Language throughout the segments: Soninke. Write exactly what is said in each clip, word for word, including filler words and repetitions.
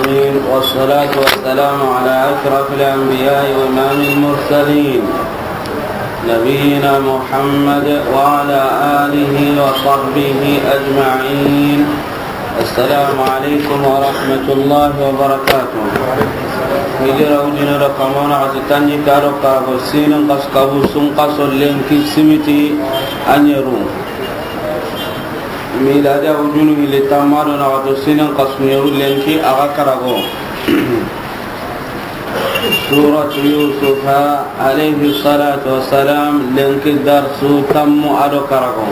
والصلاة والسلام على أشرف الأنبياء وإمام المرسلين نبينا محمد وعلى آله وصحبه أجمعين. السلام عليكم ورحمة الله وبركاته. Hijira wujine do kamana xati tanjikke do karago siinin xasu kabu sun xaso lenki simiti a ɲeru. Miladiya wujunu hilli tanma do naxato siinin xasu ɲeru lenki a ga karago. Suratu Yusufa alayhi salatu wassalam, lenki darsu tanmu a do karago.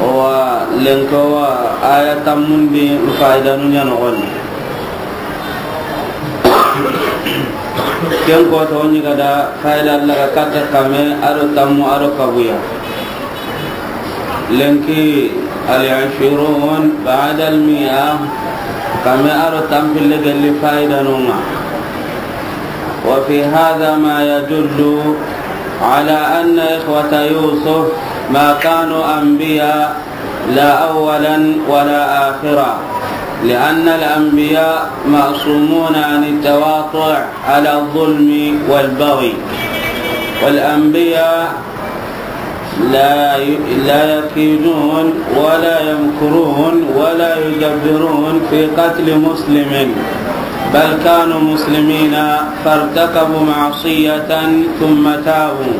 Wa lenki wa aya tanmundi faayidanu ɲa noxon di. Ken ko to ɲi ga da faayida Alla ga katta kame a do tanmu a do kabuya. Lenki العشرون بعد المائة, kame a do tanpille gelli faayidanu ŋa. وفي هذا ما يدل على أن إخوة يوسف ما كانوا أنبياء لا أولا ولا آخرا، لأن الأنبياء معصومون عن التواطؤ على الظلم والبغي، والأنبياء لا ي-، لا يكيدون ولا يمكرون ولا يدبرون في قتل مسلم، بل كانوا مسلمين فارتكبوا معصية ثم تابوا.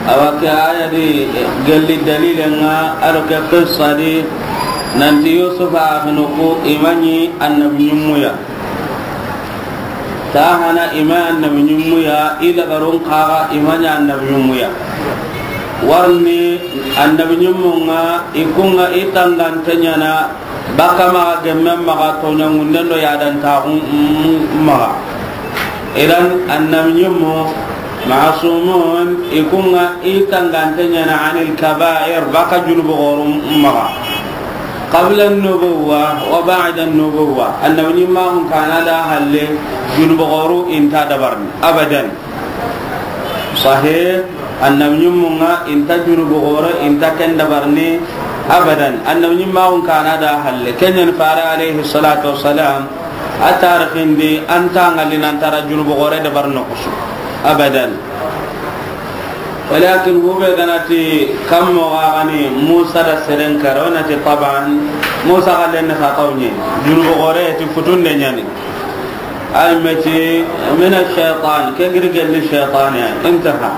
Awa ke aya di gelli dalilen ŋa a do ke qissa di nanti Yusufa axinu ku i ma ɲi annabi ɲimmuya. Ta hana i ma annabi ɲimmuya, i lagarun kaga i ma ɲa annabi ɲimmuya. Warni annabi ɲimmun ŋa i kun ŋa i tangante ɲaana baka maxa gemme maxa toɲangunden do yadantaxun maxa. Idan annabi ɲimmu masumun i kun ŋa i tangante ɲaana anil kabair baka junubu xoorun maxa. Qabla nubuwa wa ba'da nubuwa, annabi ɲimmaxun kana da halle junubu xooru i nta dabarni abadan. Sahe, annabi ɲimmun ŋa i nta junubu xoore i nta ken dabarni abadan. Annabi ɲimmaxun kana da halle, ken ɲa ni fare alayhi salatu wassalam a tarixin di a nta ŋalli nan tara junubu xoore dabarni kusu abadan. Walakin hube ga na ti kammo ga ga ni Musa da seren kara, o na ti taban Musa ga lenni xa kawɲe junubu xoore ti futunde ɲa ni. Ay meti mina shaytan, ke giri gelli shaytan ya, intaha.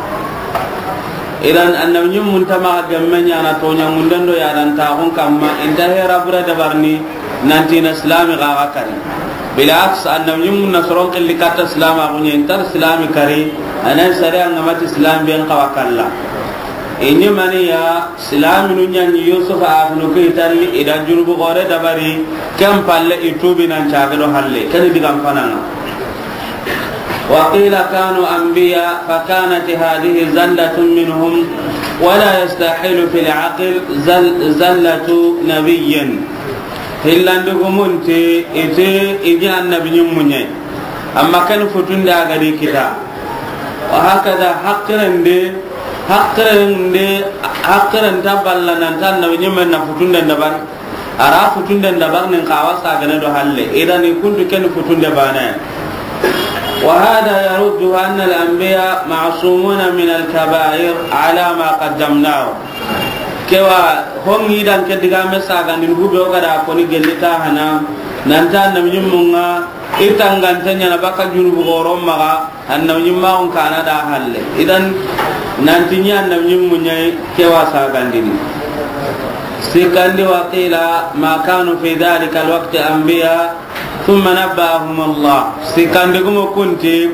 Idan annabi ɲimmun ta maxa gemme ɲaana toɲangunden do yadantaxun kamma, i nta hera bure dabarni nanti na silami ga ga kari. Bilaks, annabi ɲimmun na soron xilli katta silamaxu ɲa, i nta silami kari, a na sariya ŋa ma ti silami ben xawa kalla. I ɲi mani ya, silaminu ɲa ni Yusufa axinu ku i talli i da junubu xoore dabari, ken palle i tuubi nan caage do halle, ken ni digan fana ŋa. وقيل كانوا أنبياء فكانت هذه زلة منهم، ولا يستحيل في العقل زل-، زلة نبي. Hillandugumun ti i ti i ɲi annabi ɲimmu ɲa yi. Amma ken futunde a ga di kita. Wa hakada haqirende, haqirende, haqiren ta balla nan ta annabi ɲimmen na futunden dabari. A ra futunden dabarni n xawa sagane do halle. Idan i kuntu ken futunde bane. وهذا يرد أن الأنبياء معصومون من الكبائر على ما قدمناه. Kewa hongi dan ke digame sagandini hube o ga da koni gelli ta hana nan ta annabi ɲimmun ŋa i tangante ɲaana baka junubu xooro maxa. Annabi ɲimmaxun kana da halle. Idan nanti ɲi annabi ɲimmu ɲa yi, kewa sagandini. Sikkandi, وقيل ما كانوا في ذلك الوقت أنبياء ثم نبأهم الله. Sikkandi gumo kunti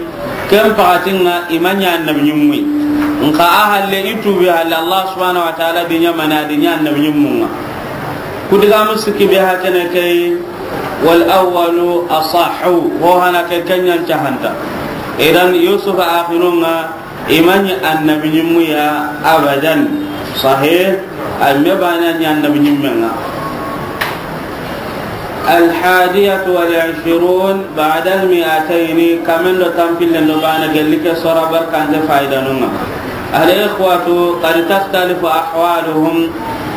ken paxatin ŋa i ma ɲa annabi ɲimmu yi. Nxa a halle i tuubi halle Allah subhanahu wa ta'ala di ɲa mana di ɲa annabi ɲimmun ŋa. Ku digamu sikki be hakene ke yi. والأول أصح, ho hana ke ken ɲa ni cahanta. Idan Yusufa axinun ŋa i ma ɲi annabi ɲimmu ya abadan. Sahe, a me bane ɲi annabi ɲimmen ŋa. الحادية والعشرون بعد المائتين, kamen do tanpillen do bane gelli ke sora barkante fayidanun ŋa. الإخوة قد تختلف أحوالهم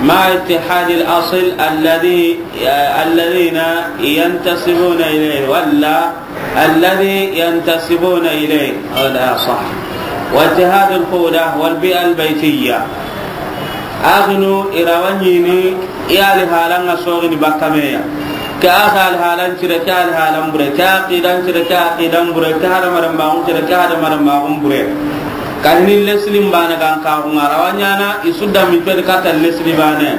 مع اتحاد الأصل الذي، الذين ينتسبون إليه، ولا الذي ينتسبون إليه، هذا صح. واتحاد الخولة والبيئة البيتية. Axinu i ra wa ɲiini i alihalan ŋa soxini bakka me ya. Ke axa alihalan cire, ke alihalan bure, ke aqidan cire, ke aqidan bure, ke hadamaren maxun cire, ke hadamaren maxun bure. Ka hini leslin baane ga n kaxun ŋa, a ra wa ɲaana i su da mi codi katta lesli baane.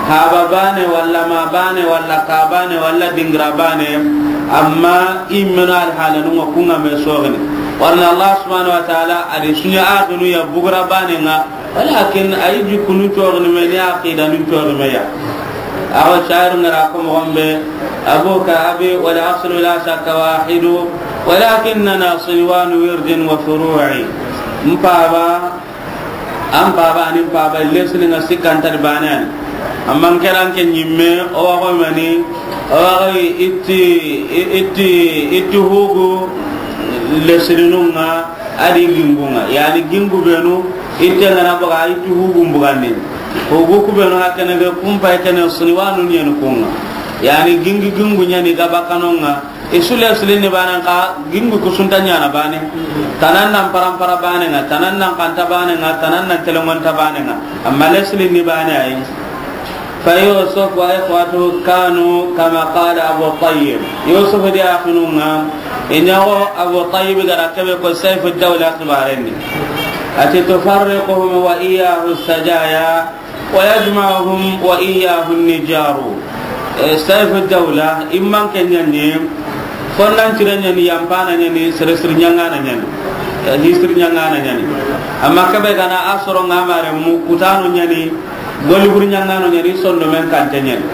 Haba baane, walla ma baane, walla ka baane, walla dingira baane. Amma i meno alihalanun ŋa kun ŋa me soxini. Warna Allah subhanahu wa ta'ala a di su ɲa axinu ya bugu ra baane ŋa. Walakin a yi jikkunu coxini me ni aqidanu coxi me ya. Awa shairu ŋa ra ko moxon be, أبوك أبي والأصل لا شك واحد، ولكننا صنوان ورد وفروع. N paba, an paba, ani n paba, lesini ŋa sikkanta di baane ani. Amma n ke ra n ke ɲimme, o wa xo mani, o wa xo itti, itti, itti hugu lesininu ŋa, a di gingu ŋa. Yani gingu benu, itte ŋa na boga, itti hugu mbugandi. Hugu ku benu hakene be kumpa kene suni wanu ɲeni kun ŋa. Yani gingi gingu ɲeni gaba kanu ŋa. I su leslin ni baane xa, gingu ku su nta ɲaana baane. Tanan nan parampara baane ŋa, tanan nan kanta baane ŋa, tanan nan telengonta baane ŋa. Amma leslin ni baane ayi. فيوسف وإخوته كانوا كما قال أبو الطيب. Yusuf di axinu ŋa, i ɲa xo Abu Tayyib ga ra ke be ko Sayfu Dawla xibaaren di. A ti: تفرقهم وإياه السجايا ويجمعهم وإياه النجار. Eh, Sayfu Dawla, i man ke ɲaani, fonnan cire ɲaani, yampana ɲaani, sere siri ɲaŋana ɲaani. Eh, hi siri ɲaŋana ɲaani. Amma ke be ga na a soro ŋa mare mu kutano ɲaani, goli buri ɲaŋano ɲaani, sondo men kante ɲaani.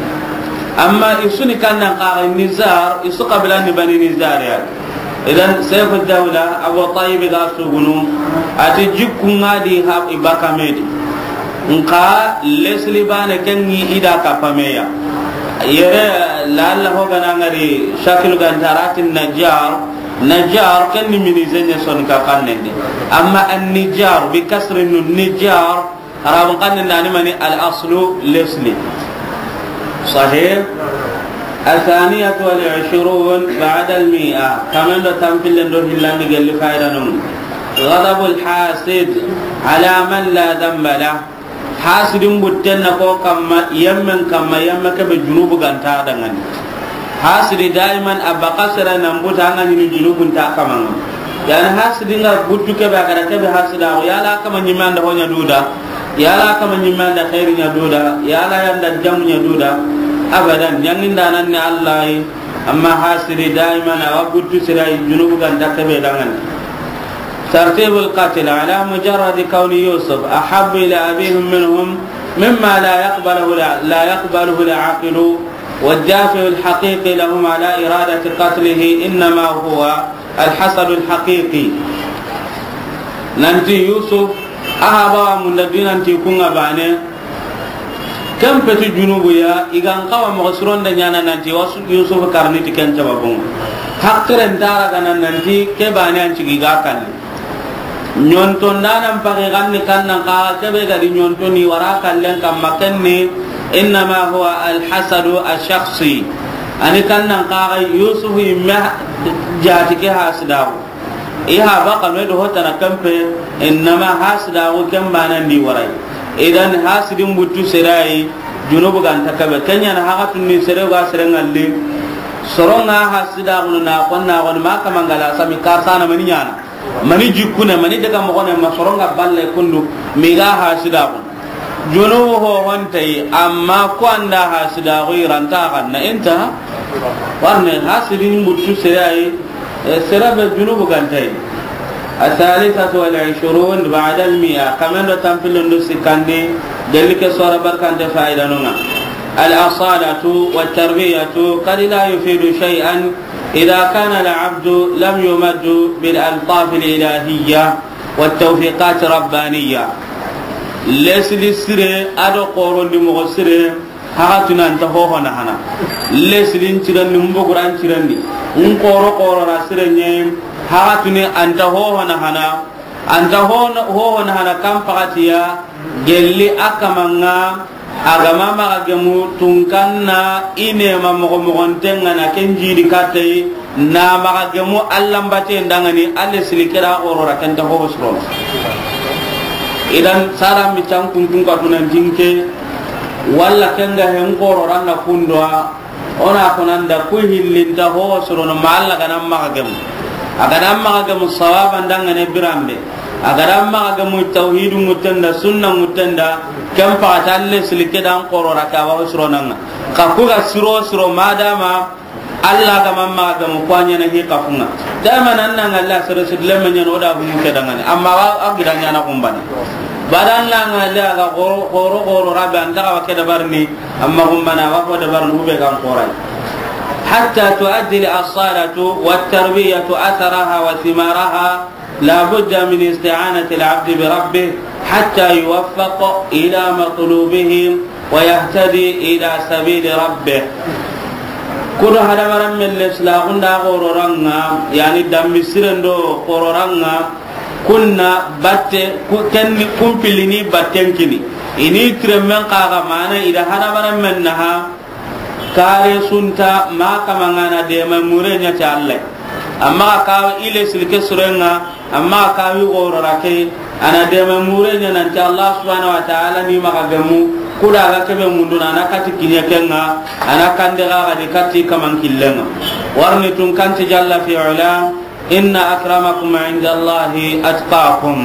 Amma i su ni kannan xa Nizar, i su qabila ni Bani Nizar ya. Idan, Sayfu Dawla, Abu Tayyib ga sugunu, a ti jikku ŋa di ha i baka me di. Nxa lesli baane ke ŋi i da kappa me ya. Yere, lalla ho ga na ŋari shakilu ga nta ra ti Najjar, Najjar ken ni mini zenye son ka kannen di. Amma an-Nijjar, bi kasri nun, Nijjar, Arabun xannen da ni mani al aslu lesli. Sahih. الثانية والعشرون بعد المائة. Kamen do tampillen do hillandi gelli fayda nun. غضب الحاسد على من لا ذنب له. Hasidin butten na ko kamma, yemmen kamma, yemme ke be junubu ga nta dangani. Hasidi daiman a baka sere nan buta ŋa ɲini junubun ta kaman ŋa. Yani hasidi ŋa buttu ke be a ga ra ke be hasida ko, yala kama ɲimme an da ho ɲa duda, yala kama ɲimme an da xeeri ɲa duda, yala yan da jamu ɲa duda. Abadan, ɲaŋinda nan ni Allah yi, amma hasidi daiman a wa buttu sere yi junubu ga nta ke be dangani. ترتيب القتل على مجرد كون يوسف أحب إلى أبيهم منهم مما لا يقبله، لا يقبله العقل. والدافع الحقيقي لهم على إرادة قتله إنما هو الحسد الحقيقي. Nanti Yusuf, a haba wa munda di nanti ku ŋa baane, ken peti junubu ya, i ga n xawa moxo sironde ɲaana nanti wa su-, Yusuf karni ti ken sababun ŋa. Haqilen ta ra ga na nanti ke baane an cigi ga kalli. Ɲontondanan paxi xanni kannan xaxa ke be ga di ɲontoni wara kallen kamma ken ni, إنما هو الحسد الشخصي. Ani kannan xaxa Yusuf yimme jaati ke hasidaxu. I haba kanu do hotana kempe, innama hasidaxu ken banan di warai. Idan hasidin buttu sere yi, junubu ga nta ke be. Ken ɲa na haxatun ni sere ga sere ŋalli. Soronga hasidaxu na xonna xoni ma kamangala sami karsana mani ɲaana. Mani jikkune, mani daga moxone, ma soronga balle kundu, miga hasidaxu. Junubu ho hontay, amma ko anda hasidaxu i ra nta xanna, inta. Warne hasidin buttu sere yi, e, sere be junubu ga ntay. الثالثة والعشرون بعد المائة. Kamen do tampillen do sikkandi, gelli ke sora barkante fayda nunga. الأصالة والتربية قد لا يفيد شيئا إذا كان العبد لم يمد بالألطاف الإلهية والتوفيقات الربانية. Lesli sire, a do xorondi moxo sire, haxatuni anta hoho na hana. Leslin cirendi, mboguran cirendi, n xoro xoro ra sire ɲe, haxatuni anta hoho na hana. Anta hoho na hana kan paxatiya, gelli a kamanga, A ga ma maxa gemu tunkanna i ne ma moxo moxonten ŋa na ken jidi kattey, na maxa gemu Alla n bate ndangani, Alla sili kera xorora kenta ho suro. Idan sara mi can kuntun ka tunan tinke, walla ken ga hen xorora na kundoa, o na konanda ku hillinta ho suro no ma Alla ga na maxa gemu. A ga na maxa gemu sawaba ndangane biranbe. A ga da maxa gemu tawhidu ŋuttenda, sunna ŋuttenda, ken paxata Alla sili ke dan xorora ke a wa ho suro nan ŋa. Xa ku ga siro siro madama Alla ga ma maxa gemu ku a ɲaana hi xafunŋa. Dama nan nan Alla sere sudle me ɲaana o da humu ke dangane. Amma wa a gida ɲaana kumbane. Badan nan Alla ga xoro xoro xoro rabe an daga wa ke dabarni, amma kumbana wa ko dabarni hube kan xorai. حتى تؤدي الأصالة والتربية أثرها وثمارها، لا بد من استعانة العبد بربه حتى يوفق إلى مطلوبه ويهتدي إلى سبيل ربه. Kudo hadamarenme le silaxunda xororanŋa, yani dammi sirendo xororanŋa, kunna batte ku-, kenni kumpilini batten kini. Ini tiremen xaxa mana ida hadamarenmen naha, kare sunta ma kama ŋa na dema mure ɲa ti Alla. Amma ka kawa ile silke surenŋa, amma ka kawi gorora ke, ana dema mure ɲa nanti Allah subhanahu wa ta'ala ni maxa gemu, kuda ga kebe munduna ana kati kiɲe kenŋa, ana kande ga ga di kati kaman killenŋa. Warni tun kanti jalla fi ula, إن أكرمكم عند الله أتقاكم.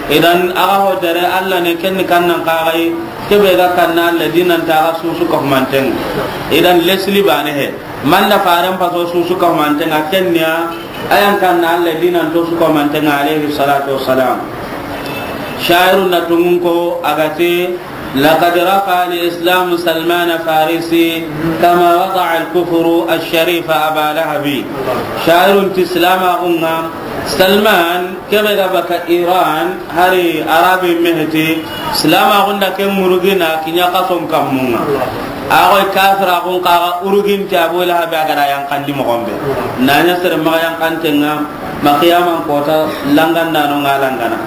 Idan, axa ho dare Alla ne kenni kannan kaxay, kebe ga kanna Alla dinan ta ga susu ka humanten. Idan, lesli bane he. Manda faren paso susu ka humanten, a kenniya, ayan kanna Alla dinan to su ka humanten, alayhi salatu wassalam. Shairu na tungun ko, agate, لقد رفع الإسلام سلمان فارسي كما وضع الكفر الشريف أبا لهب. Shairun ti Islam axunŋa Salman, kebe ga baka Iran, hari Arabi meheti, Islam axunda ke murugina kiɲa kason kammunŋa. Axoy kafir axun kaga urugin ti Abu Lahab a ga da yanqandi moxon be. Naɲa sere maxa yanqantenŋa, ma qiyaman kota langanda no ŋa langana.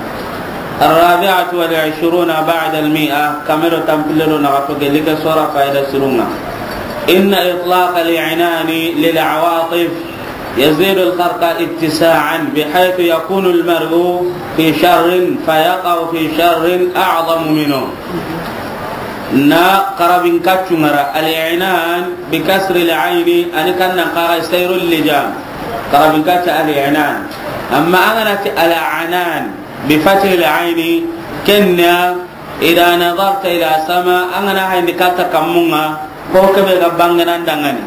الرابعة والعشرون بعد المائة، kamero tampilelo na gato gelike sora fayda sirunŋa. إن إطلاق العنان للعواطف يزيد الخرق اتساعا، بحيث يكون المرء في شر فيقع في شر أعظم منه. Na xarabin kaccu ŋara, العنان بكسر العين, ani kannan kaga سير اللجام. Xarabin kaccu العنان. Amma an ga na ti العنان, بفتح العين, kenna, إذا نظرت إلى السماء, an ga na hayindi katta kammunŋa, ho kebe ga bangana ndangani.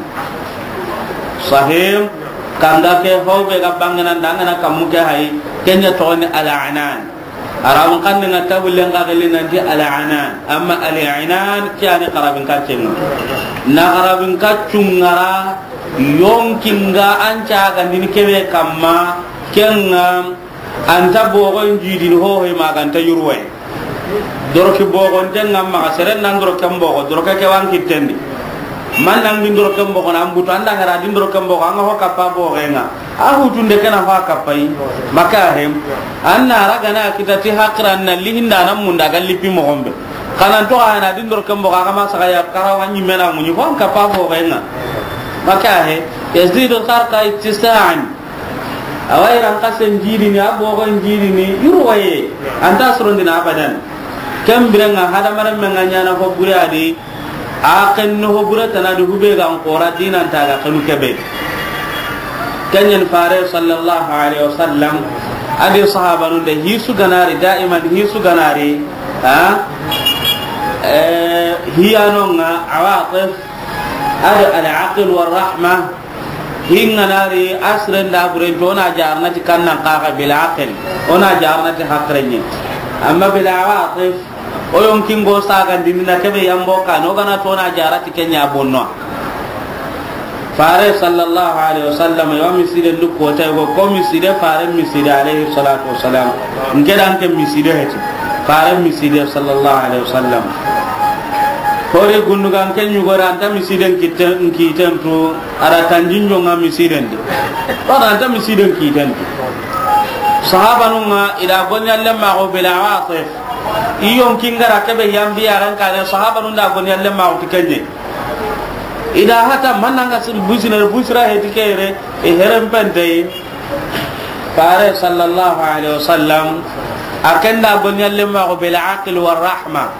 Sahih, kanga ke ho be ga bangana ndangana kammu ke hay, kenya to ni العنان. Arabun kanne nga tabullen ga geli nanti العنان. Amma العنان kiyani xarabin kaccenŋa. Na xarabin kaccunŋara yonkinga an ca gandini kebe kamma, kenŋa Anta bogon jidini hohoy maganta yurwaye. Doroki bogonten ŋa maxa seren nan doroken bogo, doroke ke wan kittendi. Man nan gin doroken bogo nan butu, anda ngara din doroken bogo, anga ho kappa bogenŋa. A hutunde kena ho kappai, maka hem. Anna ragana kita ti hakran na lihinda nan munda ga lipi mogombe. Kanan to ana din doroken bogo, aga ma saga ya kara wanyi mena munyi, ho kappa bogenŋa. Maka he, يزيد الخرق اتساعا. Awa iran kasen jidini, a bogon jidini, yurwaye. Anta surundina abadan. Ken birenŋa hadamaren men ŋa ɲana ho bure adi, a ken no ho bure tana di hube gan kora dinan ta ga kanu kebe. Kenyen fare sallallahu alaihi wasallam, adi sahabanun de hisu ganari, daiman hisu ganari, ha? Eh, hiyanonga awatif, ado al-aql wa rahma, Hinganari asren da buren to na jarna ti kannan kaga bil aql, ona jarna ti hakrenye. Amma bil awatif, o yonkingo sagandini na kebe yambo kan, o gana to na jara ti kenya bonno. Fare sallallahu alaihi wasallam, yo miside ndu ko tay go ko miside fare miside alaihi salatu wassalam. Ngedan ke miside heti. Fare miside sallallahu alaihi wasallam. Hori gundugan ke nyugora anta misiden kitten, kitten tu, ara tanjinjo nga misiden di. Wala anta misiden kitten tu. Sahabanun ŋa ida gonya lemma go bil awatif. I yonkin ga ra ke be yan bi ya ran ka ne, sahabanun da goni alle ma wuti kenye. I da hata mananga sil busine, busira heti kere, e heren pente. Fare sallallahu alaihi wasallam, a ken da goni alle ma ko bil aql war rahma.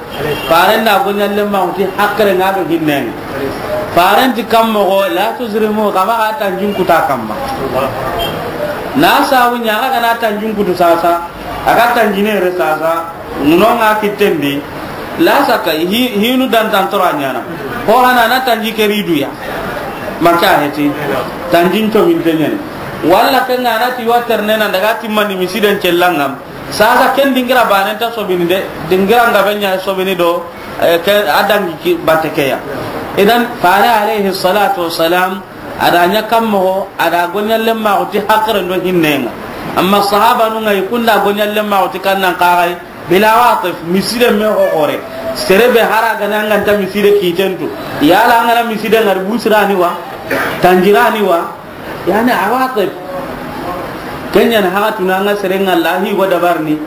Fare da goni alle ma wuti hakre nga do hinnen. Fare ti kammo go la tuzrimu, kama ka tanjin kuta kamma. Na sawu nya ga na tanjin kutu sasa, aga tanjine re sasa. Ŋuno ŋa kittendi, la saka hi-, hinu dantan tora ɲana. Ho hana na tanji keri duya. Maka heti. Tanjin to min tenyen. Walla ken ŋa na ti wa terne na daga timmani misiden cellangam. Sasa ken dingira banen ta sobini de, dingira nga benya sobini do, eh, ke adangi ki batekeya. Idan, fare alayhi salatu wassalam, a da ɲa kammoxo, a da goɲallen maxu ti haqiren do hinnenga. Amma sahabanun ŋa, i kunda goɲallen maxu ti kannan kaxay, bila watif, miside me xoxore. Sere be hara gana nganta miside kitentu. Yala angana miside ngari busirani wa, tanjirani wa, yani awatif. Kenyan haga tunanga serenga lahi wa dabarni.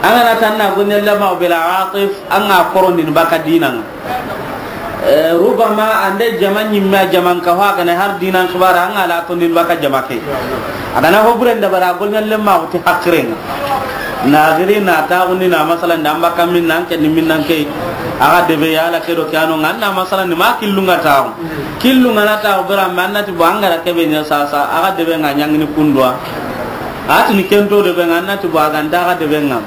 Angana tanna goɲallen maxu bila watif, anga korondin baka dinanga. Eh, rubama ande jama ɲimme a jaman ka ho a gana har dinan xibara an ala to nin baka jama ke. A gana ho buren da bara goɲallen maxu ti haqirenga. Na giri na taxundi na masalan da an baka min nan ke ni min nan ke. Aga debe yala ke do ke ano ngan na masalan ni ma killunga taxu. Killunga na taxu bera man na ti bo angara ke be ɲa sasa aga debe nga ɲangini kundwa. Atini kento debe nga na ti bo aga nda aga debe nga.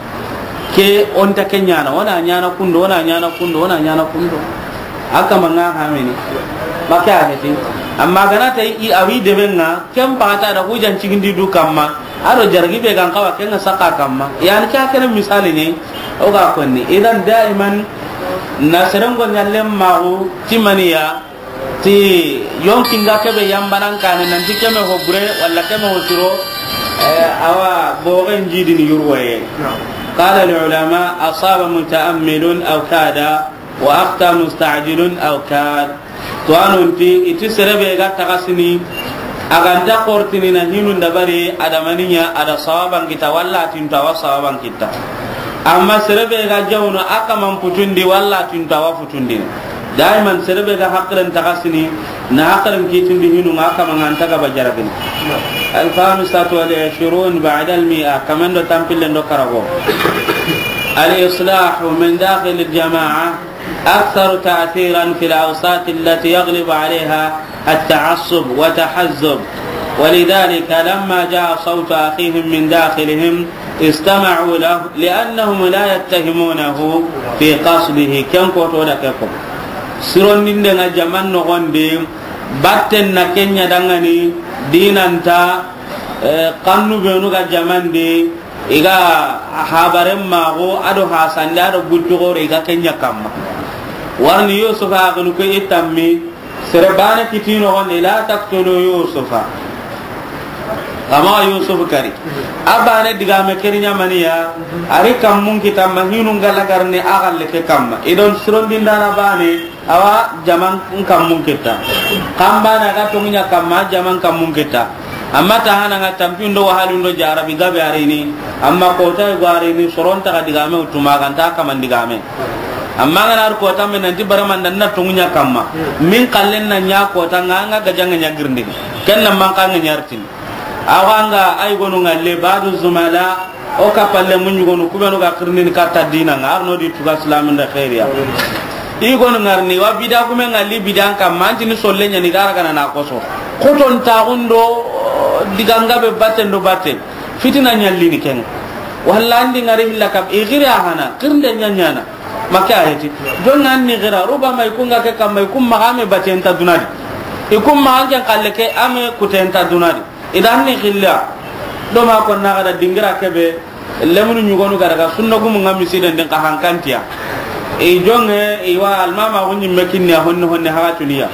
Ke onta ke ɲana, ona ɲana kundo, ona ɲana kundo, ona ɲana kundo. Aka manga hamini. Maka heti. Amma gana ta i awi debe nga, ken pata da hujan cigindi du kamma. Ado jargi be gan kawa ken saka kamma. Yani ka kene misali ne, o ga konni. Idan daiman na serengo ɲallen maxu timaniya. Ti yonkinga kebe yambanan kane nanti keme ho bure walla keme ho siro, eh, awa bogen jidini yurwaye. Qala al ulama, asaba mutaammilun aw kada, wa akhta musta'jilun aw kad. To anonti iti serebe ga tagasini, aganta kortini na hinun dabari adamaninya ada sawaban kita walla tinta wa sawaban kita. Amma serebe ga jawno akaman putundi walla tinta wa putundi. Daiman serebe ga haqiren tagasini, na haqiren kitindi hinu nga kama nga nta gaba jarabini. Al-khamisatu wal ishrun ba'da al-mi'a, kaman do tampille do karago. Al-islahu min dakhil al-jama'a aktharu ta'thiran fil awsat allati yaghlibu alayha at-ta'assub wa tahazzub. ولذلك لما جاء صوت أخيهم من داخلهم استمعوا له لأنهم لا يتهمونه في قصده. Ken ko to da ke ko. Sirondinde nga jaman no gonde, batten na kenya dangani, dinanta, eh, kannu benu ga jamande, iga habaren mago, ado hasande, ado buttu gore, iga kenya kamma. Warni Yusuf a ganu ko itammi, Sere bane kitino goni, la taqtulu Yusufa. Ama Yusuf kari. A bane digame keri ɲamaniya, ari kammun kita ma hinun galagarni a galle ke kamma. Idon sirondindana bane, awa jaman kammun kita. Kam bane aga tongunya kamma, jaman kammun kita. Amma ta hana nga tampindo wahalundo jarabi gabe arini. Amma kota go arini, soron ta digame utuma ganta kaman digame. Amma ngana ar kota men nanti baraman dan na tungunya kamma. Min kallen na nya kota nga nga gajanga nya girndin. Ken na man kanga nyartin. Awa nga ay gonu ngalle badu zumala o kapalle mun gonu kubenu ga kirnin katta dina nga arno di tuga islamin da khairiya. I gonu ngarni wa bida kume ngalli bidan kamma antini solle nya ni gara gana na koso. Koton tagundo diganga be batten do batten. Fitina ɲallini ken. Walla andi ngari hilla kab i gira hana kirnde ɲaɲana. Maka ayeti. Don nan ni gira ruba mai kunga ke kam mai kum magame batenta dunadi. I kum magan ken kalle ke ame kutenta dunadi. Idan ni xilla. Do ma ko na gada dingira kebe lemunu ɲugonu gada ga sunna gumu nga misiden din ka hankantiya. I jonge i wa almama gunyi mekinni a honne honne haga tuniya.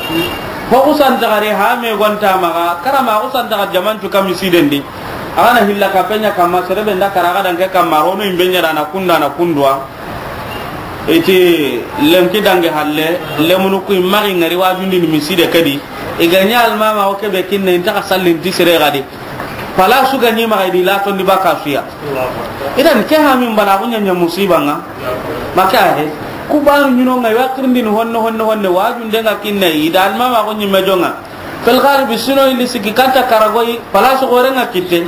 Ho usanta gare ha me gonta maga karama usanta ga jamantu ka misiden di. Agana hilla ka penya kama serebe nda karaga danke kama rono imbenya dana kunda na kundwa. Iti lenki dange halle lemunu ku magi ngari wajundi ni miside kadi. Iganya almama o kebe kinne inta ka sallin ti sere gadi. Pala su ganyi maga di laton di baka suya. Idan ke ha min bala gunya nya musiba nga. Maka he, ku banu ɲino ŋa, i wa tirindini honne, honne, honne, wajunde ŋa kinne, i da almama ko ɲimme jonŋa. Fil galibi sino indi siki kanta karagoyi, place gore ŋa kitte.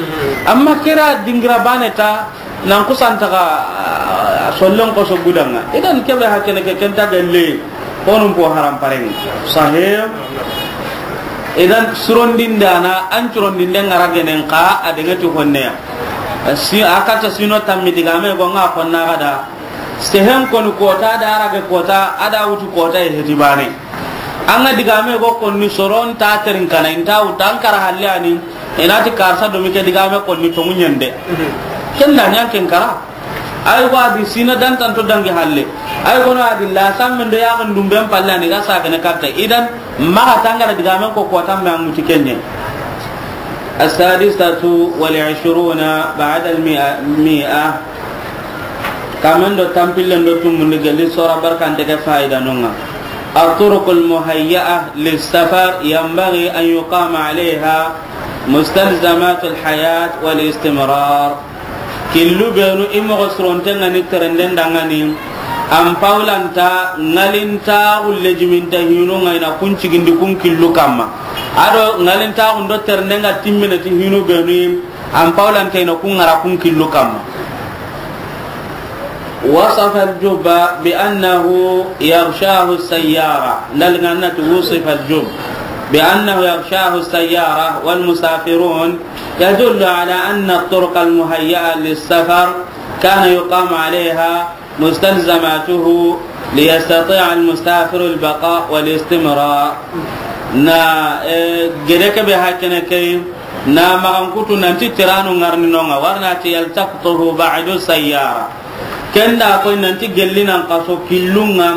Amma kira dingira bane ta, nan kusanta ga, ah, sollon koso gudanŋa. Idan kebe hakene ke kenta gelle, honun po haram parenŋa. Sahih. Idan surondindana, an curondinde ŋara genen ka, a dengeti honneya. Si, a kata sino tammi digame go ŋa konna gada. Sehen koni kota da arage kota, a da wutu kota e heti bane. An ga digame go konni soron ta terin kana, inta wuta an kara halle ani, inati karsa domi ke digame konni tongu ɲende. Ken da ɲan ken kara. Ay go adi sina dan tanto dangi halle. Ay go no adi la samme ndo ya ga ndumben palle ani ga sa kene katta. Idan maxa tangara digame ko kota me an muti kenye. السادسة والعشرون بعد المائة. Kamen do tampillen do tumundi gelli sora barkante ke fayida nonŋa. الطرق المهيئة للسفر ينبغي أن يقام عليها مستلزمات الحياة والاستمرار. Killu benu i moxo surontenŋa ni terenden danŋani, an pawlanta ŋalinta xulle jiminta hinunŋa i na kun cigindi kun killu kamma. Ado ŋalinta xundo terendenŋa timmene ti hinu benu, an pawlanta i na kun ŋara kun killu kamma. وصف الجب بأنه يغشاه السيارة. Ndalganna ti وصف الجب بأنه يغشاه السيارة والمسافرون يدل على أن الطرق المهيئة للسفر كان يقام عليها مستلزماته ليستطيع المسافر البقاء والاستمرار. Na, eh, gede ke be hakene ke, na magankutu nanti tiranu ŋarni nonŋa, warna ti يلتقطه بعد السيارة. Kenda koy nanti gelli nan kaso killunŋa,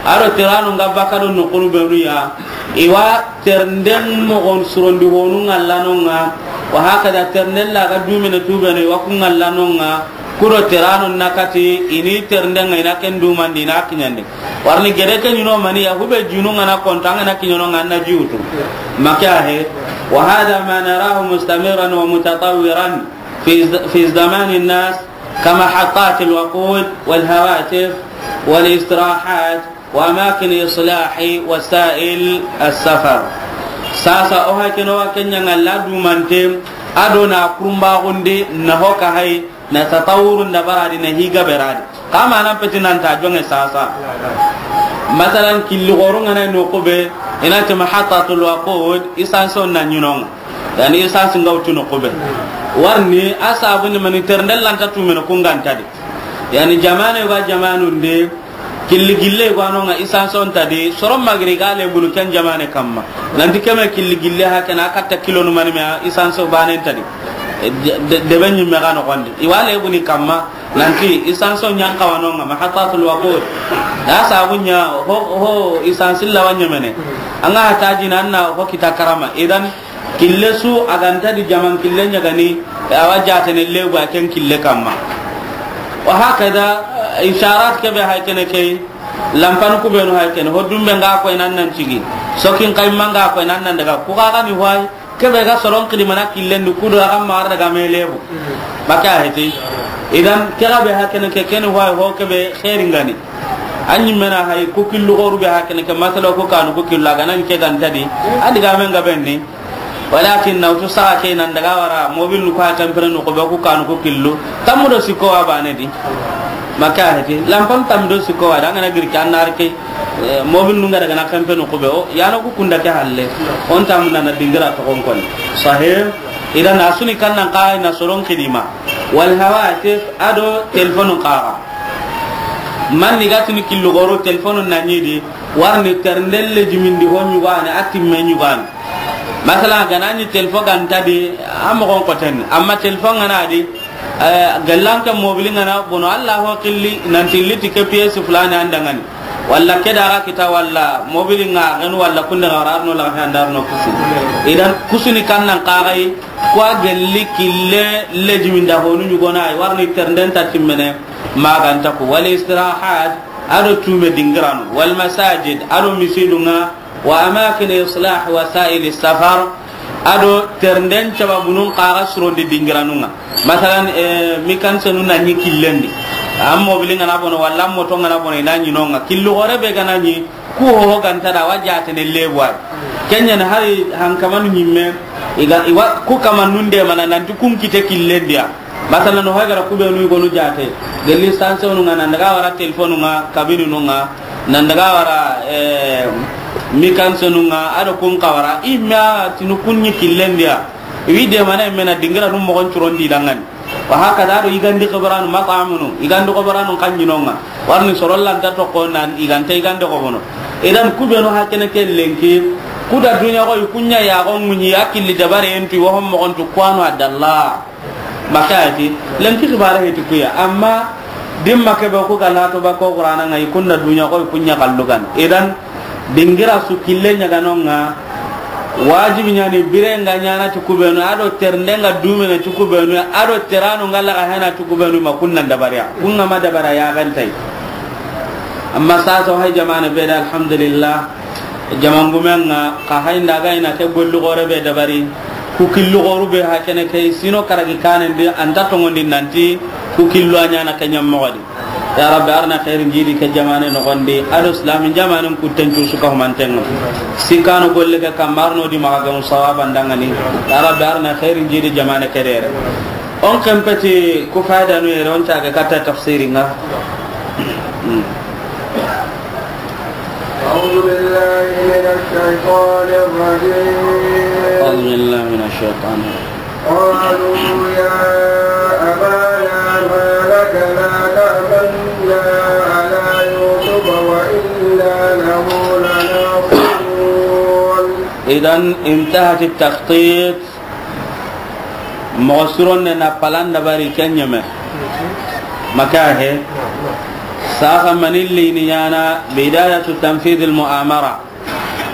aro tiranu nga baka do nokunu benu ya, iwa ternden mogon surondi honu ŋalla nonŋa, wa hakada ternden la ga dumene tubene iwa ku ŋalla nonŋa, kudo tiranu nakati ini ternden ŋa ina ken dumandi ina kiɲandi. Warni gede ke ɲino mani ya hube junu ŋana konta ŋana kiɲono ŋana jiwutu. Maka he, وهذا ما نراه مستمرا ومتطورا في ز-، في زمان الناس كمحطات الوقود والهواتف والاستراحات وأماكن إصلاح وسائل السفر. Sasa o hakeno wa kenya ŋalla dumante ado na kurumba gonde na hoka hay na tatawurun da baradi na higa beradi. Kama nan peti nan ta jonge sasa. Masalan killi goru ŋana no kube ina ti محطة الوقود essence na ɲinonŋa. Yani essence nga wutu no kube. Warni asabu ni mani terndel lanta tumene kungantadi. Yani jamane wa jamanunde killi gille wa nonŋa essence on tadi soron magri gale bulu ken jamane kamma. Nanti keme killi gille hakena katta kilo no mani me essence o banen tadi. E, de, de, de ben nyimme ga no gonde. Iwale buni kamma nanti essence o ɲan kawanonŋa محطة الوقود. Da sabu ɲa ho, ho essence la wanyemene. Anga hataji nanna ho kita karama. Idan kille su a ganta di jaman kille ɲagani, awa jatene legu a ken kille kamma. Wa hakada, eh, isharat kebe hay kene key, lampan kubenu hay kene, ho dumbe nga koy nan nan cigi, sokin kayma nga koy nan nan daga, ku ga ni hoy, kebe ga soron kidimana killen di kudo aga mar daga me lebu. Baka heti. Idan kega be hakene ke ken hoy ho kebe khairin gani. Anyi mena hay ku killu goru be hakene ke masala ku kanu ku killu aga nan ke ganta di. Adiga men ga benni. Walakin na wutu saga ke nan daga wara mobil nu ko ha tampere no ko be ku kanu ko killu. Tammu do sikko wa bane di. Maka heti. Lampan tammu do sikko wa da ngana giri kan nar ke, eh, mobil nu nga daga na kampe no ko be o. Ya no ku kunda ke halle. On tammu na na dingira to kon kon. Sahih. Idan asuni kan nan ka na soron kidima. Wal hawatif ado telephone ka. Man ni gatini killu goro telephone na nyidi. Warni terndelle jimindi ho nyugane atimme nyugane. Masala ganani telefo ganta di, a mogon koten. Amma telefo ngana di, eh, gallanke mobili ngana bono, Allah ho killi, nanti liti ke pièce fulani andangani. Walla ke daga kita, walla mobili nga ganu, walla kunde ga wararno la ga andarno kusu. Idan kusuni kannan kagai, kwa galli kille lejiminda honu nyugona, warni ternden tatimmene, maganta ku. Wal istirahat, ado tume dingiranu. Wal masajid, ado misidunga, wa amakin islah wasail safar, ado ternden cababunun kaga surondi dingiranunga. Masalan, eh, mikansenu na ni killendi. An mobili ŋa na bono, walla an moto ŋa na bono, i na ɲi no ŋa. Killu xoore be ga na ɲi, ku ho ga nta da, wa jaatene lebu ay. Ken ɲa ni hari hankamanu ɲimme, i ga, i wa ku kamanun deemana nanti kun kite killen di ya. Masalan, no hay gara ku be nu i gonu jaate. Gelli sanse nu ŋa, nan daga wara telefonu ŋa, kabini nu ŋa, nan daga wara, eh, mikanse nu ŋa, a do kun xa wara. I ma tinu kun ɲi killen di ya. I wi deemana i me na dingira nu moxon curon di dangani. Wa hakada, a do yigandi xabaranu, mat'amunu, yigandi xabaranu xa ɲi no ŋa. Warni soro lanta toxo nan yigante yigande xobono. Idan ku be nu hakene ke lenki, ku da duniya xo i ku ɲa ya xo ŋuɲi ya killi dabare en tu, wa hom moxon tu, ku wa no adalla. Makayati, lenki xibare heti ku ya. Amma dimma ke be ku ga lato ba ko Qur'ana ŋa, i kun da duniya xo i ku ɲa kallu gana. Idan dingira su kille ɲa ga no ŋa, wajibi ɲa ni bire ŋa ɲaana ti ku be nu, a do ternde ŋa dumene ti ku be nu, a do teranu ŋa laga hena ti ku be nu, ma kun nan dabari ya. Kun ŋa ma dabara ya gantay. Amma sasa hay jamaane be da, alhamdulillah. Jamangumen ŋa, xa hay nda ga i na ke gollu xoore be dabari. Ku killu xooru be hakene ke sino karagi kanen di, an ta tongondi nanti ku killu a ɲaana ke ɲa moxo di. Ya Rabbi, arna xeerin jidi ke jamaane noxon di, a do islamin jamaanen kutten cu su ka humanten ŋa. Sikkano golle ke kamma arno di maxa gamu sawaban dangani. Ya Rabbi, arna xeerin jidi jamaane ke dere. On kempeti ku faydanu yere, on caage katta tafsirin ŋa. Hmm. أعوذ بالله من الشيطان الرجيم. أعوذ بالله من الشيطان الرجيم. قالوا يا أبانا ما لك لا تأمنا على يوسف وإنا له لناصحون. إذن انتهت التخطيط. Moxo sironne na palan dabari ken ɲeme. Maka he. Saxa mani lini ɲaana bidayatu tanfidil mu'amara.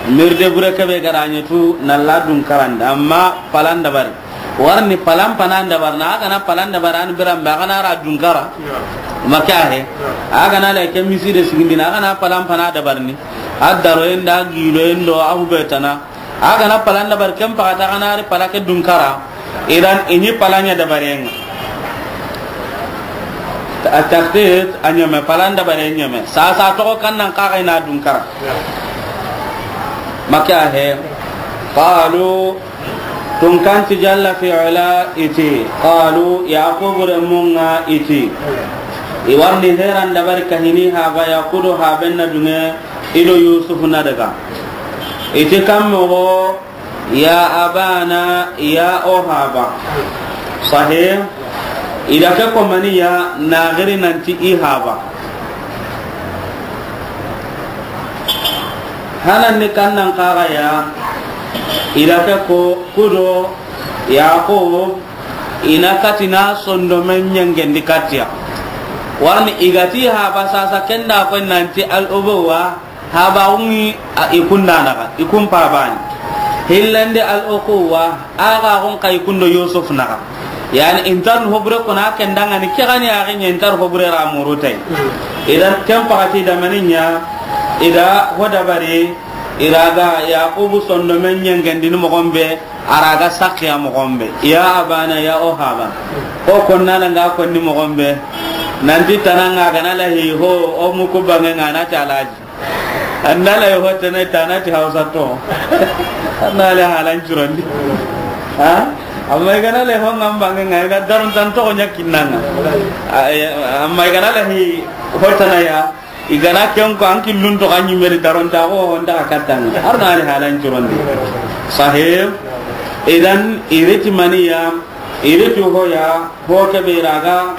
Mirde bure kebe ga ra ɲa tu na la dun karanda, amma palan dabari. Warni palan pana dabarna, a ga na palan dabari an biran ba, a ga na ra dun kara. Maka he. A ga na le ke miside sigindina, a ga na palan pana dabarni. A daro en da gilo en do a hubetana. A ga na palan dabari ken paxata, a ga na ri pala ke dun kara. Idan i ɲi palan ɲa dabaren ŋa. A taxtit a ɲeme, palan dabare ɲeme. Sasa toxo kan nan xa ga i na dun kara. Maka he. Qalu, tunkanti jalla fi ula i ti. Qalu, Yaqubu renmun ŋa i ti. I warni heran dabari kahini haba ya kudo haben na dunge i do Yusufu na daga. I ti kan moxo, ya abana, ya o haba. Sahih. I da ke ko mani ya na giri nanti i haba. Hanan ni kan nan xa ga ya, i da ke ko kudo Yaqub, i na kati na sondomen ɲengendi katiya. Warni i ga ti haba sasa ken da ko nanti al ubuwa, haba ungi a i kunda naxa, i kun pabani. Hillande al ukuwa, a ga gon xa i kundo Yusuf naxa. Yani intar hobure ko na ken dangani ke gani a ga ɲa intar hobure ra murutay. Idan ken paxati da mani ɲa, i da ho dabari, i ra ga Yaqubu sondomen ɲengendini moxon be, a ra ga sakkiya moxon be. Ya abana, ya o haba. Ko konna na nga konni moxon be. Nanti tana nga ga na lahi ho, o muku bange nga na ti Alaji. An na lahi ho tana, tana ti Hausa to. An na le halan curondi. Ha? Amma i ga na lahi ho nga bange nga, i ga daron tan to ɲa kinnanga. A, e, amma i ga na lahi ho tana ya. I ga na ken ko an killun to kan ɲimeri darontaxo honda ka kattanga. Arno ali halan curondi. Sahih. Idan i riti maniya, i riti hoya, ho ke be ra ga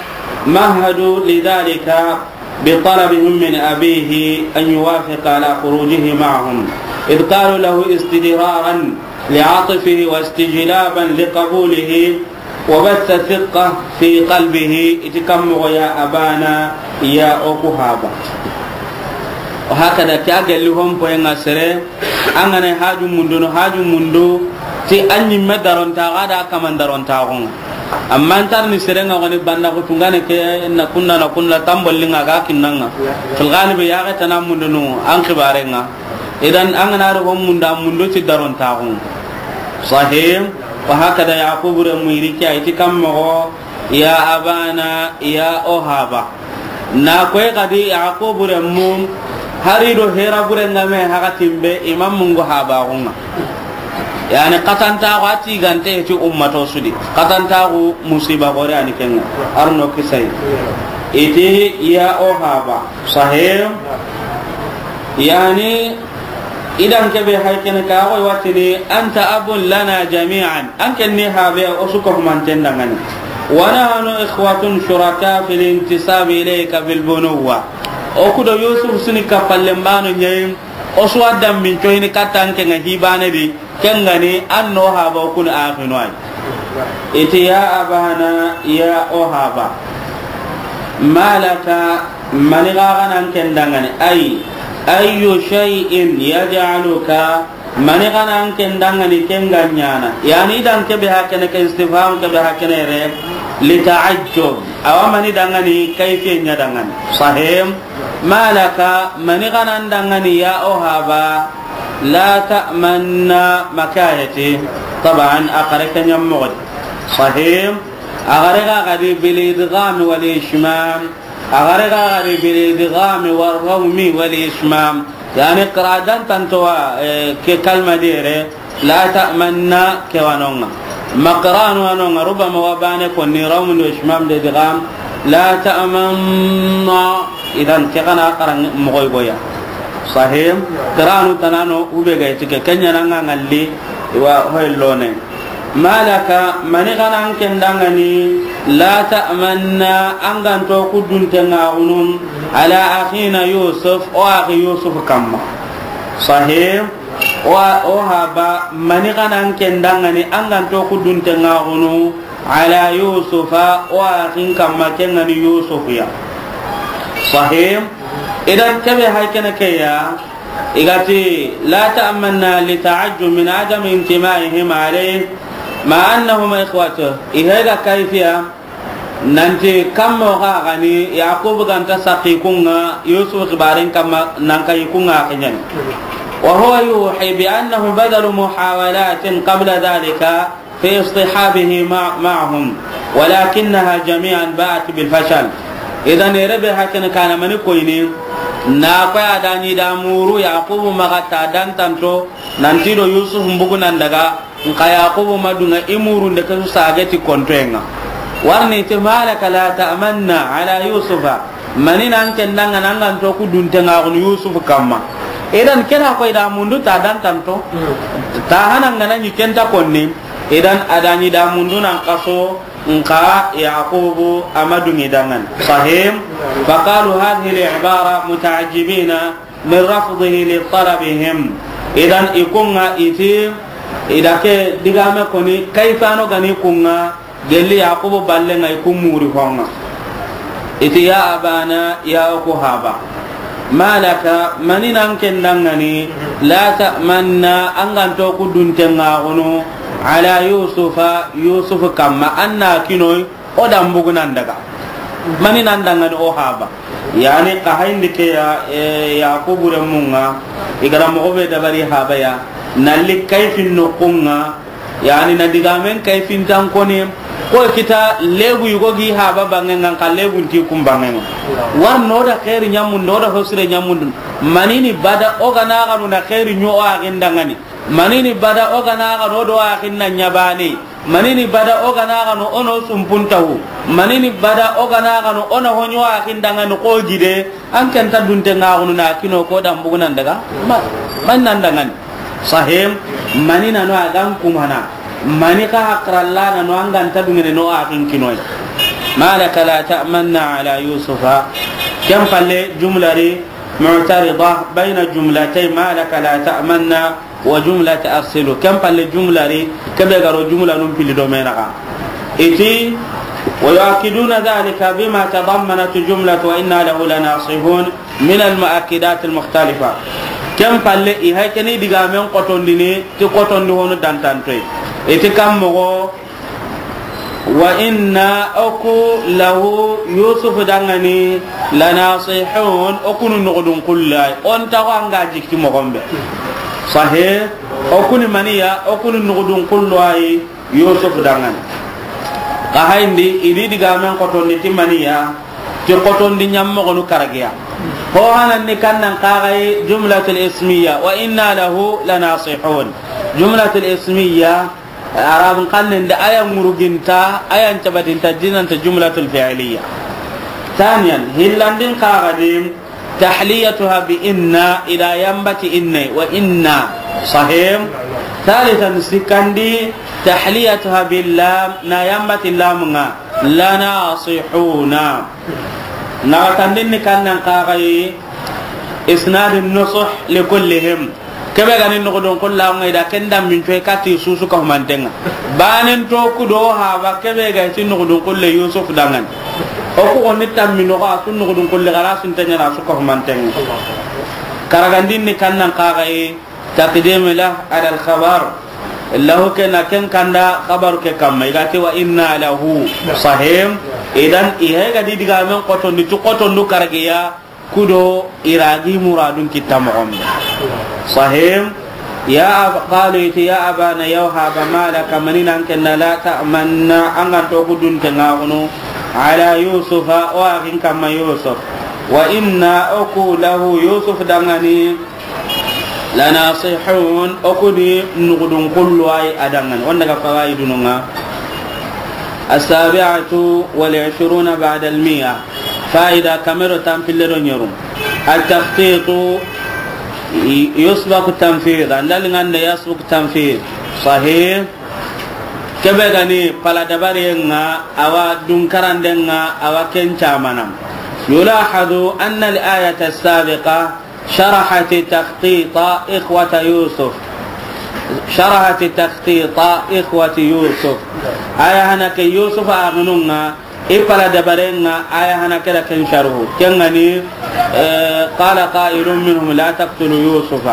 mahadu lidhalika bi talabihim min abihi an yuwafiqa ala khurujihi ma'ahum. Idh qalu lahu istidraran li atifihi wa istijlaban li qabulihi. Wa batha thiqqa fi qalbihi, i ti kan moxo ya abana, ya o ku haba. Wa hakada, ke a gelli hon poye nga sere, an ga na haju mundu no, haju mundu, ti an ɲimme darontaxu a da kaman darontaxu nga. Amma an tar ni sere nga woni banda ku tungane ke na kunna na kunna tambolli nga ga kinnanga. Fil galibi ya ga tana mundu no an xibare nga. Idan an ga na ro hon munda mundu ti darontaxu. Sahih. Wa hakada Yaqubu renmu i ri ke a yi ti kan moxo, ya abana, ya o haba. Na koy xadi Yaqubu renmu, hari do hera buren ga me hakatin be, i ma mungu habaxun ŋa. Yani, xatantaxu a tigante ti ummato su di. Xatantaxu musiba gore ani ken ŋa. Arno kisay. I ti ya o haba. Sahih. Yani, idan ke be hay kene ka, o wa tini, anta abun lana jami'an. An ken ni habe, o su ko humanten da ŋa ni. Wa nahnu ikhwatun shuraka fil intisabi ilayka bil bunuwwa. O ku do Yusuf su ni kapallen bano ɲa yi, o su wa dammin coyini katta an ke ŋa hi bane di, ken ga ni an no haba o ku ni axinu ay. I ti ya abana, ya o haba. Ma laka, mani ga ga na an ken da ŋa ni, ay, ayyu shay'in yaj'aluka, mani ga na an ken da ŋa ni ken ga ɲaana. Yani, idan ke be hakene ke istifham, ke be hakene re, li ta'ajjub. Awa mani da ŋa ni, kayfiye ɲa da ŋa ni. Sahih. Ma laka, mani ga na an da ŋa ni ya o haba, la ta'manna, makayati. Taban, a xare ke ɲa moxo di. Sahih. A xare ga xadi bil idgham wal ishmam. A xare ga xadi bil idgham wal rawmi wal ishmam. Yani, qira'a dan tanto wa, eh, ke kalma di yere, la ta'manna ke wa no ŋa. Ma qira'anu wa no ŋa, rubama wa bane ko ni rawmun do ishmam de idgham. La ta'manna, idan ke xa na xaran moxo yi goya. Sahih. Qira'anu tana no, u be ga i ti ke, ken ɲa na ŋa ŋalli, wa hoy lone. Ma laka, mani ga na an ken da ŋa ni, la ta'manna, an ga nto ku dunten ŋa xunu, ala akhina Yusuf, o axi Yusuf kamma. Sahih. O, o haba, mani ga na an ken da ŋa ni, an ga nto ku dunten ŋa xunu, ala Yusufa, o axin kamma, ken ga ni Yusuf ya. Sahih. Idan ke be hay kene ke ya, i ga ti, la ta'manna li ta'ajjub min adam intimaihim alayh, ma annahum ikhwatu. I hay ga kayfiya, nanti kammo ga ga ni, Yaqub ga nta saqi kun ŋa, Yusuf xibaren kamma, nan kay kun ŋa ke ɲa ni. Wa huwa yuhi bi annahu badhalu muhawalatin qabla dhalika, fi istihabihi ma-, ma'ahum, walakinnaha jami'an ba'at bil fashal. Idan, ere be hakene kana mani koyni, na ko ya da ɲi da muru Yaqubu maxa ta dan tanto, nanti do Yusuf mbugu nan daga, nka Yaqubu ma du ŋa i murun de ke su sage ti kontoyen ŋa. Warni ti ma laka la ta'manna ala Yusufa, mani na an ken da ŋa ni an ga nto ku dunten ŋa xunu Yusuf kamma. Idan ke na koy da mundu ta dan tanto, ta hanan ga na ɲi ken ta konni. Idan a da ɲi da mundu nan kaso, nka Yaqubu a ma du ŋi da ŋa ni. Sahih. Faqalu hadhihi al-ibara muta'ajjibina min rafdihi li talabihim. Idan i kun ŋa i ti, i da ke digame koni, kayfano ga ni kun ŋa, gelli Yaqubu balle ŋa i kun muri ho ŋa. I ti ya abana, ya o ku haba. Ma laka, mani na an ken da ŋa ni, la ta'manna, an ga nto ku dunten ŋa xunu, ala Yusufa, Yusuf kamma, an na kinoy, o da mbugu nan daga. Mani na an da ŋa ni o haba. Yani, xa hayndi ke ya, eh, Yaqubu renmu ŋa, i ga ra moxo be dabari haba ya, na li kayfin noxun ŋa, Yani na digamen kayfintan koni, ko kita lebu yugo gi haba banŋen ŋa, nka lebun ti kun banŋen ŋa. War no da xeeri ɲamundu, o da hosire ɲamundu. Manini bada o ga na xanu na xeeri ɲo o axin da ŋa ni. Manini bada o ga na xanu o do axin na ɲa bane. Manini bada o ga na xanu o no sumpuntahu. Manini bada o ga na xanu o na ho ɲo o axin da ŋa ni ko gide. An ken ta dunten ŋa xunu na kino ko da mbugu nan daga. Ma, man nan da ŋa ni. Sahih. Mani na no a ga n kumana. Mani xa hakralla na no an ga nta dungene no a kin kinoy. Ma laka la ta'manna ala Yusufa. Ken palle jumla ri mu'tarida bayna jumlatay, ma laka la ta'manna wa jumlata arsilu. Ken palle jumla ri, ke be ga ro jumla nun pili do me naxa. I ti, wa yu'akkiduna dhalika bima tadammanat jumlatu wa inna lahu lanasihun. Min al-mu'akkidat al-mukhtalifa. Ken palle i hay keni digamen kotondini ti kotondi honu dantantoy. I ti kam moxo, wa inna, o ku, lahu, Yusuf da ŋa ni, lanasihun, o ku nu noxodun kullay. O nta xo an ga jikki moxon be. Sahih, o ku ni maniya, o ku nu noxodun kullay. Yusuf da ŋa ni. Xa hayndi, i di digamen kotondi ti maniya, Ti xotondi ɲammoxonu karagiya. Ho hananni kannan kaxayi jumlatul ismiya, wa inna lahu lanasihun. Jumlatul ismiya, Arabun xannen da aya ŋuruginta, aya ncabatinta, dinanta jumlatul fi'liya. Thaniyan, hillandin kaxadi, tahliyatuha bi inna, ida yambati inna, wa inna. Sahih. Thalithan, sikandi, tahliyatuha bil lam, na yambati lamunga, lanasihuna. Naxatandin ni kannan kaxayi, isnadin nusuh li kullihim. Kebe gani nuxudun kulla ŋa ida ken dammin coy kati susu ka humantenga. Banen to kudo haba kebe ga ti nuxudun kulle Yusuf dangan. O ku onni tammi no ga su nuxudun kulle gara sun tanya na su ka humantenga. Karagandin ni kannan kaxayi, taqdim la ala al khabar. Lahu ke na ken kanda khabar ke kamma. Igati wa inna lahu. Sahih. Idan ihe ga di digamen xotondi tu xotondu karagiya. Kudo iragi muradun kitta moxon be. Sahih. Ya ab-, qalu iti ya abana yawhaba malaka manina an kenna la ta'manna an gan to gudun tengaxunu ala Yusufa o axin kamma Yusuf. Wa inna oku lahu Yusuf dangani lanasihun, oku ni nuxudun kullu ay adangan. Wanda ga fawaidununga. As-sabi'atu wal ishruna ba'da al-mi'a. Faida kamero tampille do nyeru. At-takhtitu yusbaqu tanfidh. Andal ngande yasbaqu tanfidh. Sahih. Kebe gani pala dabare nga awa dunkarande nga awa ken camana. Yulahadu anna al-ayata as-sabiqa شرحت تخطيط إخوة يوسف. شرحت تخطيط إخوة يوسف. Aya hana ke Yusuf axinunga, i pala dabarenga, aya hana ke da ken sharhu. Kengani, eh, قال قائل منهم لا تقتلوا يوسف.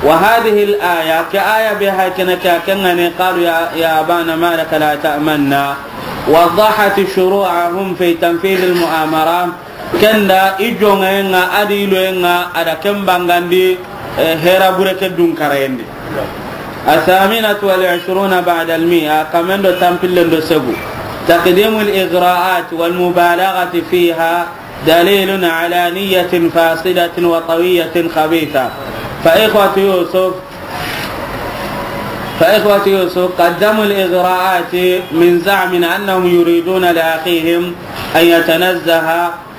وهذه الآية, ke aya be hay kene ke, kengani, قالوا يا، يا أبانا ما لك لا تأمنا. وضحت شروعهم في تنفيذ المؤامرة. Kenda i jongenga, adi iloyenga, ada ken bangandi, eh, hera bure ke dun karayendi. الثامنة والعشرون بعد المائة, kamendo tampillendo segu. تقديم الإغراءات والمبالغة فيها دليل على نية فاسدة وطوية خبيثة. فإخوة يوسف، فإخوة يوسف قدموا الإغراءات من زعم أنهم يريدون لأخيهم أن يتنزه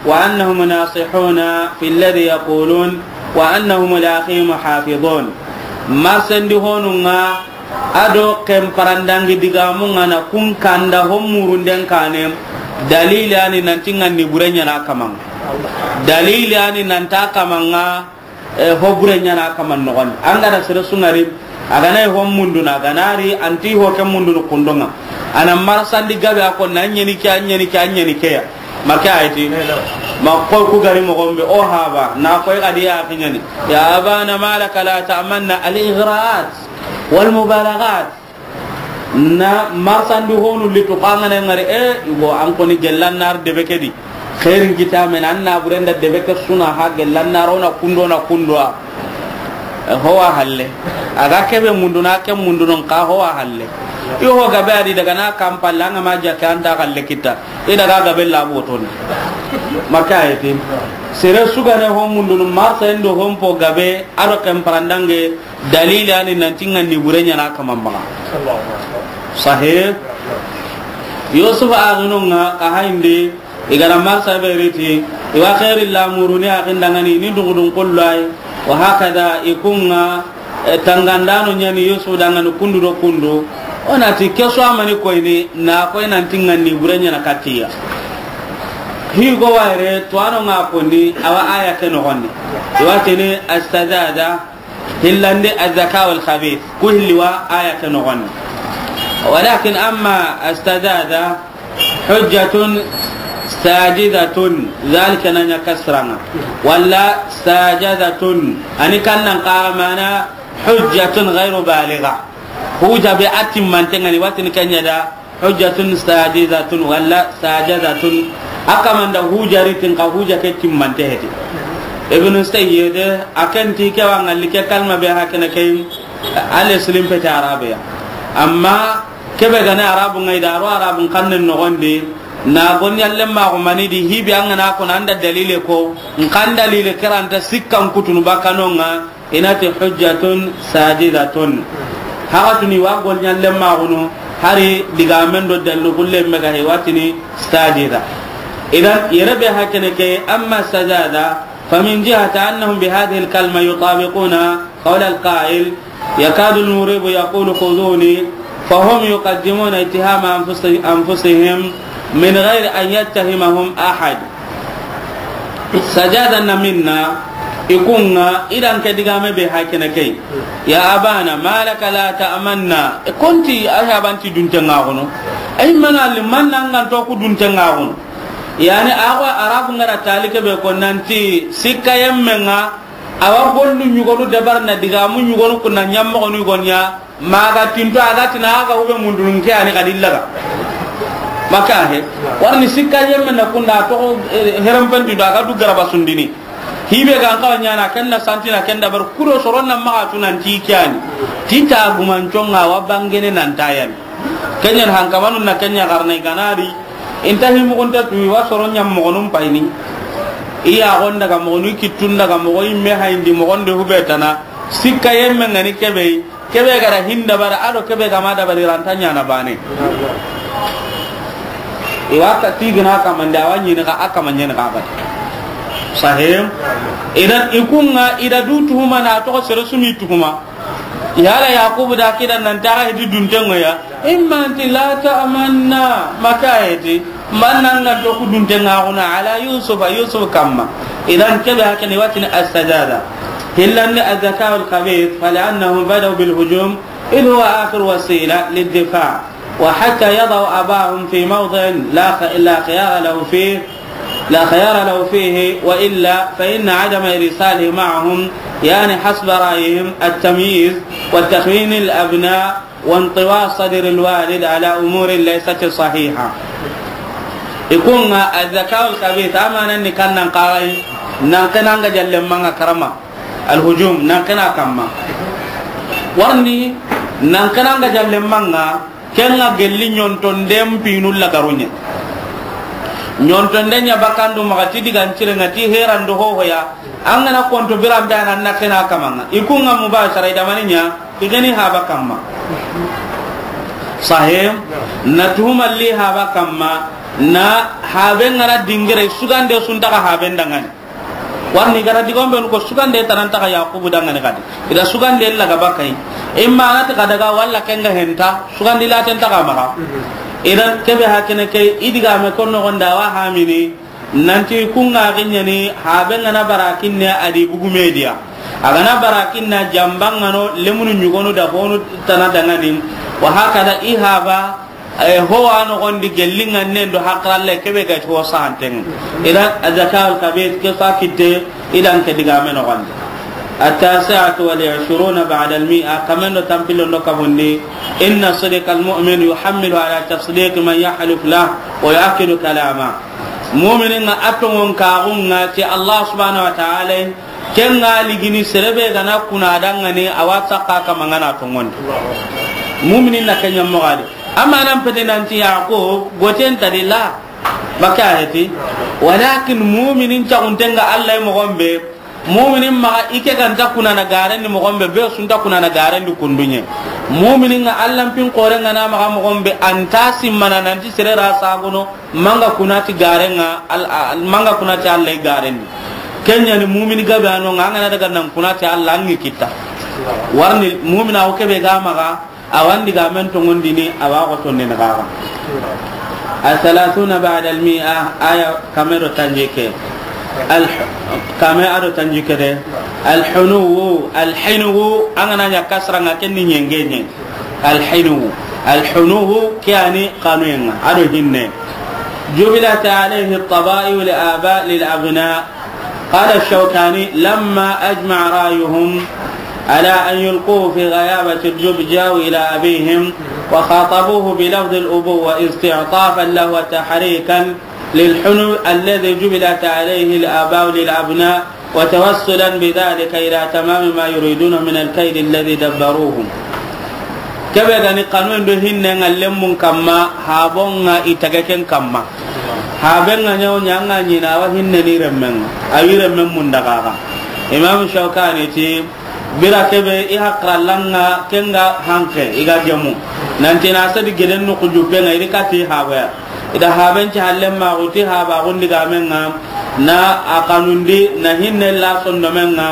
وأنهم ناصحون في الذي يقولون وأنهم لأخيهم حافظون. Marsendi honunga ado ken parandangi digamunga na kun kanda ho murunden kane. Dalili ani nanti ngani bure ɲana kamanga. Dalili ani nanta kamanga. Eh, ho bure ɲana kaman noxondi. An ga na sere sungari, a ga na ho munduna, a ga na ri, anti ho ke mundunu kundonga. Ana marsandi gabe a ko na ɲeni ke, a ɲeni ke, a ɲeni ke ya. Maka ayti. Ma ko ku gari moxon be, o haba, na ko ga di ya kiɲani. يا أبانا ما لك لا تأمنا, الإغراءات والمبالغات. Na marsandi honu litu kangana ngari, e, igo an koni gellan nar debe kedi. Khairin kitamen anna burenda debe ke suna ha gellan nar ona kundo na kundwa. E, howa halle. Aga kebe munduna ke mundunon ka howa halle. Yo ho gabe adi daga na kampalla nga maja ke anta halle kita. I daga gabe la botoni. Maka ayti. Sere sugane ho mundunu marsa endo hompo gabe ado ken parandange. Dalili ani nanti ngani bure ɲana kaman baga. Sahih. Yusuf aginunga ka hainde, igara marsa beriti, iwa khairi lamuruni agindangani ni dugudun kullai, wa hakada ikunga, eh, tangandano ɲani Yusuf dangani kundu do kundu. Onati keso amani koyni, na koy nanti ngani bure ɲana katiya. Higo waire, tuwano nga koni, awa aya ke noxondi. Iwa tini astazada, Hillandi الذكاء الخبيث, ku hilli wa aya ke noxondi. ولكن أما استزاد حجة ساجزة, ذلك na ɲa kasranga. Walla ساجزة, ani kannan ka mana حجة غير بالغة. Huja be atimmantenga ni watini kenya da. Hujjatun sajizatun walla sajazatun. A kamanda hujaritin ka huja ke timmante heti. Ibn Sayyid, a ken ti ke wa ngalli ke kalma be hakene ke, ale silim pete arabe ya. Amma kebe gane arabu ngai da ro arabun kannen noxondi, Na golli ɲallen maxu mani di, hibi an ga na ko na an da dalile ko, n xa n dalile ke ra nta sikkan kutunu bakka no ŋa, i na ti hujjatun sajidatun. Haxatuni wa golli ɲallen maxunu, hari digamen do dallu gulle me ga he wa tini sajida. Idan, yere be hakene ke, amma sajada, فمن جهة أنهم بهذه الكلمة يطابقون قول القائل، يكاد المريب يقول خذوني، فهم يقدمون اتهام أنفس-، أنفسهم من غير أن يتهمهم أحد. سجادة منا، i ku ŋa, i da ke digame be hakene ke. يا أبانا ما لك لا تأمنا. I ku nti, a ya banti dunte ŋa gono. Ay mana li manna ŋa to ku dunte ŋa gono. Yani, awa Arabu ŋa ra tali ke be ko nanti sikka yemme ŋa, awa gollu ɲugonu dabar na digamu ɲugonu kunna ɲammoxonu gonya, maxa tinto a ga tina a ga hube mundunun ke ani xa dillaga. Maka he, warni sikka yemme na kunda to, eh, herempendi do a ga du garaba sundini. Hibe ga an xawa ɲana, ken na santina, ken dabar kudo soron na maxa tu nanti ke ani. Ti ta gumanco ŋa wa bangene nan ta yani. Ken ɲa hankamanun na ken ɲa garna i ga na ri. I nta hi moxon ta tu, i wa soro ɲa moxonun payini. I ya gon daga moxonu, i kittun daga moxo, i me hayindi moxon de hube tana. Sikka yemme ŋa ni kebe, kebe ga ra hin dabara, a do kebe ga ma dabari ra nta ɲana bane. I wa ka tigina kamande, a wa ɲini ka, a kama ɲini ka ba. Sahim. Idan i ku ŋa, i da du tuhuma na to sere su mi tuhuma. Yala Yakubu da kida nan ta hidi dunte ŋa ya. Imma anti la ta'manna, maka heti. Manna ŋa to ku dunte ŋa gono ala Yusuf, Yusuf kamma. Idan kebe hakene wa tini as-sajada. Hillan الذكاء الخبيث، فلأنهم بدأوا بالهجوم إذ هو آخر وسيلة للدفاع، وحتى يضعوا أباهم في موضع لا خ-، لا خيار له فيه، لا خيار له فيه، وإلا فإن عدم إرساله معهم يعني حسب رأيهم التمييز وتخوين الأبناء وانطواء صدر الوالد على أمور ليست صحيحة. I ku ŋa الذكاء الخبيث, amanan ni kannan kagai, nan ke na ŋa jalle manga karama. Al-hujum, nan ke na kamma. Warni, nan ke na ŋa jalle manga, ken ŋa gelli ɲontonden pinu lagaruɲe. Ɲontonden ɲa bakandu maxa ti digan cire ŋa ti heran do hohoya. An ga na konto biran be anan na ke na kama ŋa. I ku ŋa mubashara i da mani ɲa, i ga ni haba kamma. Sahim, na tuhuma li haba kamma, na habe ŋa ra dingire sugande su nta ga haben dangani. Warni ga ra digon be ko sugande tana nta ga Yakubu dangani kadi. I da sugande laga bakai. Imma na ta ga daga walla ken ga henta, sugandi la ten ta ga maxa. Idan kebe hakene ke i digame ko no gonda wa hamini. Nanti ku ŋa ginyani, habe ŋa na bara kinne a di bugu media. A ga na bara kinna jamba ŋa no lemunu ɲugonu da honu tana dangani. Wa hakada i haba, eh, ho wa no gondi gelli ŋa nen do hakralle kebe ga ho santen. Idan الذكاء الخبيث ke fa kitte, idan ke digame no gondi. التاسعة والعشرون بعد المائة, kamen do tampilo ndo kabundi, إن صدق المؤمن يحمل على تصديق من يحلف له ويؤكد كلامه. Muminin ŋa a tonŋon kaxun ŋa ti Allah subhanahu wa ta'ala, ken ŋa ligini sere be ga na kuna dangani a wa sakka kama ŋa na tonŋondi. Muminin na ken ɲa moxo di. Amma nan pete nanti ya ko goten ta di la. Maka heti. Walakin muminin caxunten ŋa Allah moxon be. Muminin maxa i ke ga nta kuna na garendi moxon be, be su nta kuna na garendi kunduɲe. Muminin ŋa Allah pin xore ŋa na maxa moxon be, a nta simmana nanti sere ra sagono, manga kuna ti garen ŋa, al-, al-, manga kuna ti Allah i garendi. Ken ɲa ni mumini gabe a no ŋa, an ga na daga nan kuna ti Allah an ŋi kitta. Warni mumina o kebe ga maxa, a wa n digamen tonŋondini, a wa xo tondini xaxa. الثلاثون بعد المائة, aya kame do tanjikke. Al-, kame a do tanjikke de. الحنو, الحنو, an ga na ɲa kasra ŋa ken ni ɲengeɲe. الحنو, الحنو, ke a ni xanuyen ŋa, a do hinne. جبلت عليه الطبائع الآباء للأبناء. قال الشوكاني: لما أجمع رأيهم على أن يلقوه في غيابة الجب، جاءوا إلى أبيهم وخاطبوه بلفظ الأبوة استعطافا له وتحريكا للحنو الذي جبلت عليه الآباء للأبناء، وتوسلا بذلك إلى تمام ما يريدون من الكيد الذي دبروه. Kebe ga ni xanuyen do hinnen ŋa lemmun kamma, habon ŋa i tage ken kamma. Haben ŋa ɲa wo ɲa, a ŋa ɲi na a wa hinne ni remmen ŋa, a wi remmen mundaxaxa. Imam Shawkani ti, bire ke be i haqillan ŋa ken ga hanke, i ga gemu. Nanti na sedi geden noxu juppe ŋa, i ri kati haba ya. I da haben ci hallen maxu ti haba gundi ga men ŋa, na a kanundi, na hinne la sondomen ŋa,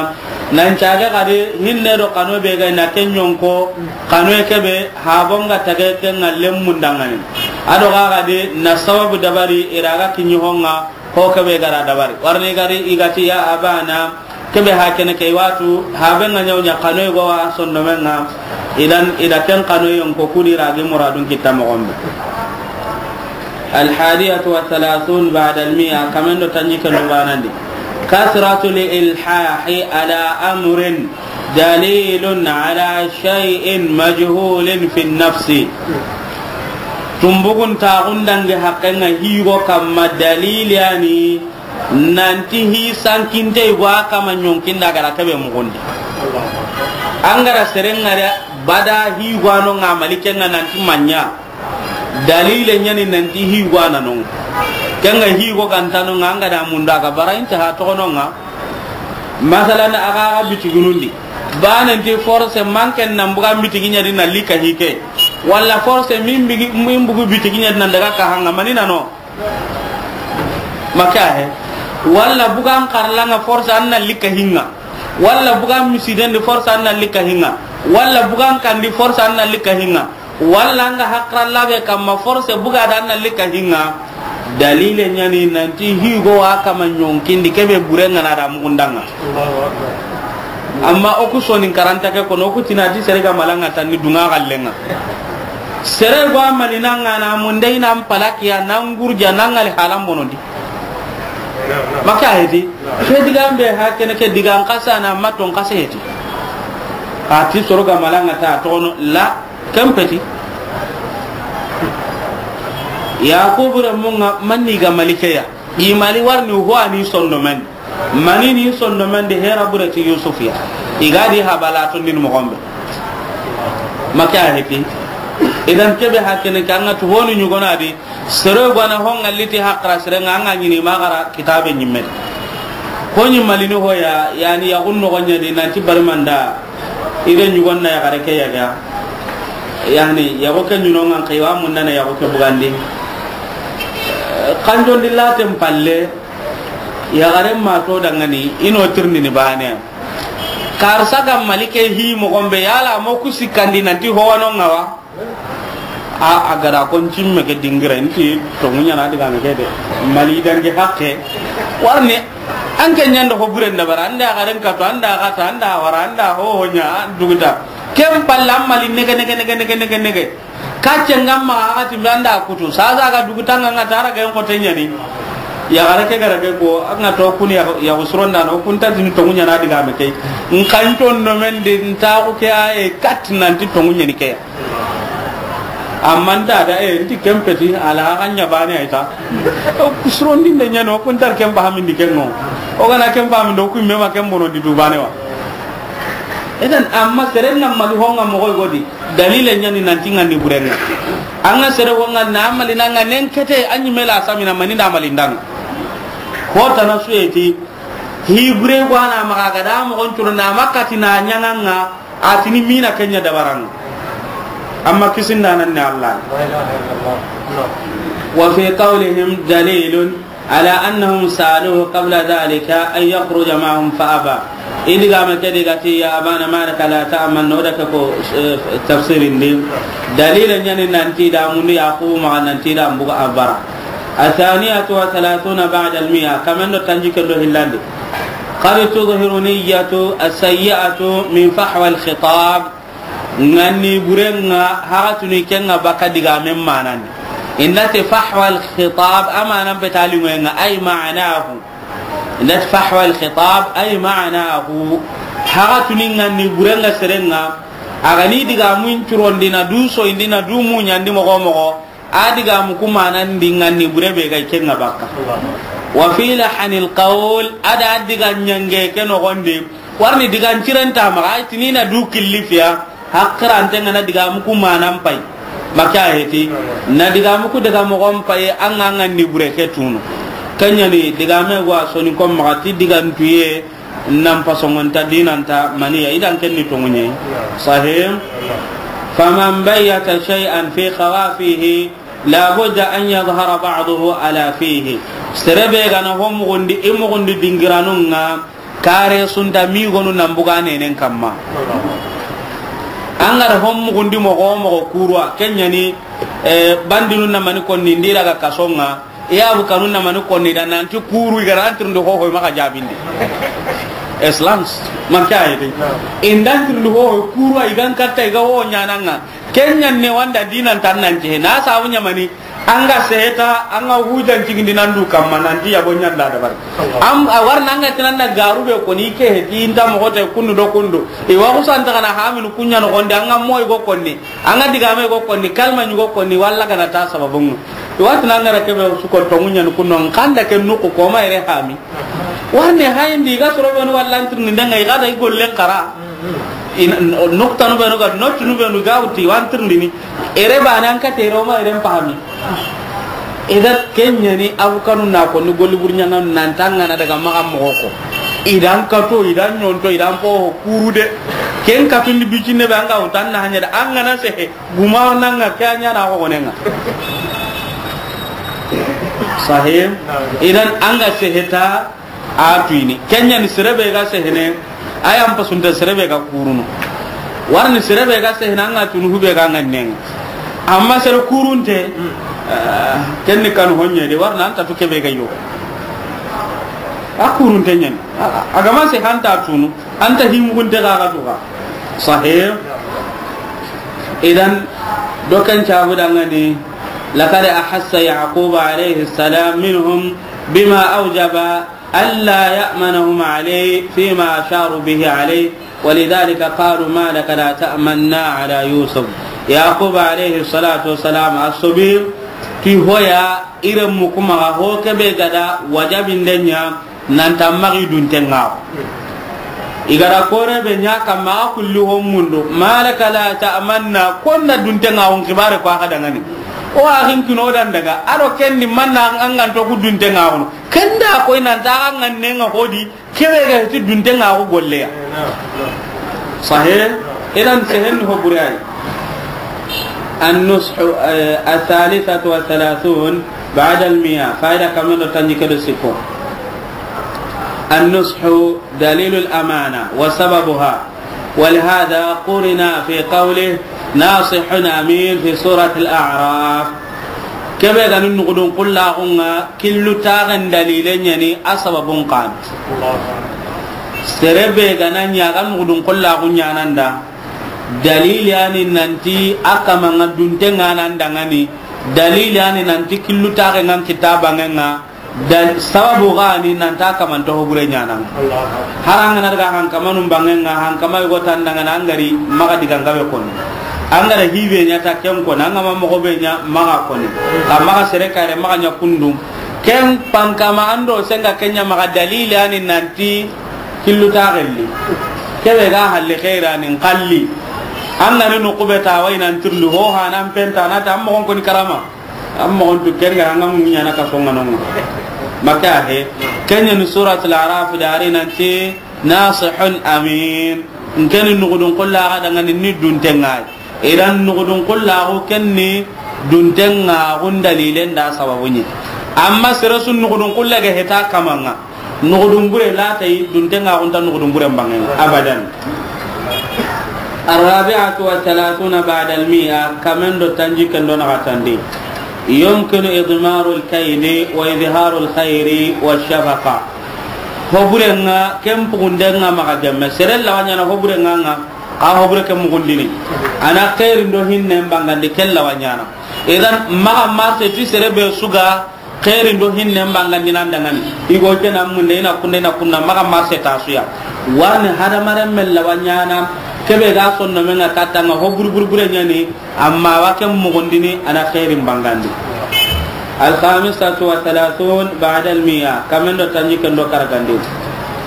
nan cage kadi hinne do kanu be ga na ken ɲonko, kanu ke be, habon ga tage ken ŋa lemmun dangani. A do ga kadi na sababu dabari i ra ga kiɲi ho ŋa, ho ke be ga ra dabari. Warni gari i ga ti ya abana, ke be hakene ke watu, haben ŋa ɲa wo ɲa kanu go wa sondomen ŋa, idan i da ken kanu yonko kudi ra gi muradun kitta moxon be. الحادية والثلاثون بعد المائة, kamen do tanjikke do banandi. كثرة الإلحاح على أمر دليل على شيء مجهول في النفس. Tumbugun taxun dangi haqqen ŋa higo kamma dalili yani nanti hi sankinte go a kama ɲonkinda gara kebe mugundi. An gara seren ŋa da bada higo ano ŋa malike ŋa nanti manya. Dalile ɲani nanti higo a na no ŋa. Ken ŋa higo ganta no ŋa, an ga da munda ga bara inte ha toxo no ŋa. Masalan, a ga ga bitigunundi. Ba nanti force manken nan buga bitigi ɲa di na lika hike. Wala force min bigi, min bugu bitigi ɲa di nan daga ka hanga manina no. Maka he. Wala bugan karlanga force an na lika hinga. Wala bugan misiden di force an na lika hinga. Wala bugan kandi force an na lika hinga. Walla anga hakralla be kamma force buga da na lika hinga. Dalile ɲani nanti higo wa kama ɲonkindi kebe bure ŋa na da mugundanga. Amma o ku sonin karanta ke kono, o ku tinati sere ga malanga tanni dunga gallenga. Sere go amani nanga na munde ina mpalakiya na ngurja na ŋali halan bonondi. Maka heti. Ke digan be ha kene ke digan kasa na maton kasa heti. Ati soro ga malanga ta tono la. Ken peti. Yakubu ra munga manni ga malikeya. I mali warni ho ani sondomen. Mani ni sondomen de hera bureti Yusuf ya. I ga di habala to ndin mo gombe. Maka heti. Idan kebe hakene kanga tu honu nyugona di. Sere gwana ho ŋa liti hakra sere ŋa ŋa ɲini ma gara kitabe ɲimme. Ko ɲi malini ho ya, yani ya gunno gonya di nanti bari manda. Ire ɲugon na ya gare ke ya ga. Yani ya go ke ɲuno ŋa kai wa mun na ya go ke bugandi. Kanjon di laten palle. Ya gare ma to dangani ino tirni ni bane. Karsa ga malike hi mo gombe yala mo kusikandi nanti ho wano ŋa wa. A, a gada kon cimme ke dingira, nti tongu ɲana diga me ke de. Mali dangi hakke. Warni, an ke ɲanda ho buren da bara, anda garen kato, anda gata, anda wara, anda ho ho ɲa, duguta. Kem palla mali nege, nege, nege, nege, nege, nege. Kacce ngamma agati mbe anda kutu. Sasa ga duguta nga nga tara ga ko tenyani. Ya gara ke gara ke ko, anga to kun ya, ya usron dano, kun ta dini tongu ɲana diga me ke. Nkan ton no men de, nta ko ke ay kat nanti tongu ɲani ke. Amma nta da, e, nti kempeti, ala ga ɲa bane ay ta. O ku surondi nde ɲano, o ku ntar kempa hamindi kengo. O gana kempa hamindo, o ku mema kembono di dubane wa. Eden, amma seren na mali honga mo goy godi. Dalile ɲani nanti ŋa ni burenga. Anga sere honga na mali nanga nen kete anyi mela samina mani da mali ndang. Ko tana suyeti. Hi bure gwana maga gada mo gon turu na makati na ɲanganga. Atini mina kenya dabarang. Amma kisinda nan ne Allah. وفي قولهم دليل على أنهم سألوه قبل ذلك أن يخرج معهم فأبى. Idiga me kedi gati, يا أبانا ما لك لا تأمنا, no da ke ko, eh, tafsirin di. Dalila ɲani nanti da mundu Yakubu maga nanti da mbuga abara. الثانية والثلاثون بعد المائة, kamendo tanji kendo hillandi. قد تظهر النية السيئة من فحوى الخطاب. Ŋanni burenga hagatuni kenga baka digamen manandi. Indati فحوى الخطاب, amanan petali ŋoyenga, أي معناه. Indati فحوى الخطاب أي معناه. Hagatuni ŋanni burenga serenga, agani digamun curondi na du soyindi na du muɲandi mogo mogo. A digamu ku manandi ŋanni bure be ga kenga bakka. وفي لحن القول, ada diga ɲange ke nogondi. Warni digan cirenta maga, ay tinina du killifiya, hakkirante ngana digamu ku manan pay. Maka heti, na digamu ku daga moxon paye, an ga, an ga ni bure ke tunu. Ken ɲa ni digame gwa soni ko maxa ti digantuye, nan pasongonta dinanta maniya, idan ken ni tonŋuɲe. Sahih. Faman bayyata shay'an fi khawafihi, la budda an yadhhara ba'duhu ala fihi. Sere be ga na ho muxundi, i muxundi dingiranun ŋa, kare sunta migonu nan buga nenen kamma. An ga da ho muxundi moxo wo moxo kuruwa, ken ɲa ni, eh, bandinu na mani konni ndi daga kason ŋa, i ya bu kanu na mani konni da nanti kuru i ga ra an tirindi ho ho i maxa jabindi. Islam, man ka yi de. I nda an tirindi ho ho kuruwa i ga n katta i ga ho ɲaana ŋa. Ken ɲa ni wanda dinan tan nan je. Na sabu ɲa mani, an ga seheta, an ga hujan cigindi nan du kamma, nanti yabo ɲa nda dabari. Am, a war na an ga tinan na garu be koni ke heti, inta moxo te kundu do kundu. I wa ku santa kana haminu ku ɲa noxondi, an ga moyi go konni, an ga digame go konni, kalma ɲi go konni, walla ga na ta sababun. I wa tinan ga ra kebe su ko tonŋu ɲa ni kunno, n kanda ke nuku ko ma ire hami. Warne hayindi, i ga soro benu walla n tirindi ndenga, i ga da i gollen kara. Ina, no-, noktanu benu ga, notunu benu ga wuti, wa n tirindini. Ere bana an kate ro ma ere n pahami. Ida ken ɲa ni abukanu na ko ni golli burɲanga nan tangana daga maxa moxo ko. Idan kato, idan ɲonto, idan po kuru de. Ken katundi bicine be an ga wutan na hanya da an ga na sehe. Guma nanga ke ɲa na ko gonenga. Sahih. Idan an ga seheta a tuini. Ken ɲa ni sere be ga sehene, a yan pasunte sere be ga kurunu. Warni sere be ga sehene, an ga tunu hube ga ngannenga. Amma sere kurunte, eh, ken ni kan honye de, warna an ta tu kebe ga yo. A kurunte ɲa ni. A, a ga ma se hanta tunu. Anta himugunte ga ga duga. Sahih. Idan, doken cabu dangani, لقد أحس يعقوب عليه السلام منهم بما أوجب ألا يأمنهم عليه فيما أشاروا به عليه، ولذلك قالوا: ما لك لا تأمنا على يوسف. Yaquba alayhi salatu wassalam a sobi ti hoya iren mukumaga ho kebe gada wajabindenya. Nanta maxi duntenŋaxu. I ga da kore be ɲa kamma, a kulli ho mundu. ما لك لا تأمنا, konna duntenŋaxun xibare ko a xa dangani. O axin kino dan daga, a do ken di manna an ga nto ku duntenŋaxunu. Ken da koy nanta a xa ngannenga hodi, kebe ga ti duntenŋaxu golleya. Sahih. Idan sehen ho buriyai. النصح، eh, الثالثة والثلاثون بعد المائة. Faida kamen do tanjikke do sikko. النصح دليل الأمانة وسببها، ولهذا قرن في قوله ناصح أمين في سورة الأعراف. Kebe ga ni nugudun kullaxunga, killu taxen dalile ɲa ni a sababun kan. Sere be ga na ɲa ga nugudun kullaxu ɲananda. Dalili ani nanti a kamanga duntenga nan dangani. Dalili ani nanti killu taxe ngan kitabangenga. Dan sababu gani nanta kamanta hobure ɲananga. Haranga na daga hankamanun bangenga, hankama yugo tandangana angari maga digangabe koni. Angara hibe ɲata ken koni, angama mogo be ɲa maga koni. Ka maga sere kare maga ɲa kundum. Ken pankama ando senga kenya maga dalili ani nanti killu taxelli. Kebe ga halli xeirani nkalli. An ga ni nukube ta wai nan tirlu ho hanan penta na ta mogon koni karama. An mogon tu ken ga an ga munya na ka songa non. Maka he. Kenya ni suratul Araf dari nanti nasihun amin. Nkeni nugudun kulla ga dangani ni duntengai. Idan nugudun kullaxu ken ni duntenŋaxun dalilen da sababunye. Amma sere su nugudun kulla ga heta kamanga. Nugudun bure latayi duntenŋaxunta nugudun bure mbangen. Abadan. الرابعة والثلاثون بعد المائة, kamen do tanjikken do naxatandi. يمكن إضمار الكيد وإظهار الخير والشفقة. Hoburenga, ken pugundenga maxa gemme. Sere lawaɲana hoburenga nga. Xa hobure ke mugundini. Ana xeerin do hinnen bangandi ken lawaɲana. Idan maxa marse ti sere be su ga xeerin do hinnen bangandi nan dangani. Igo ke na munde ina kunde na kunna maxa marse ta suya. Warni hadamaren men lawaɲana kebe ga sonno menga katanga hobure bure bure ɲani. Amma wa ken mugundini ana xeerin bangandi. الخامسة والثلاثون بعد المائة, kamen do tanjikken do karagandi.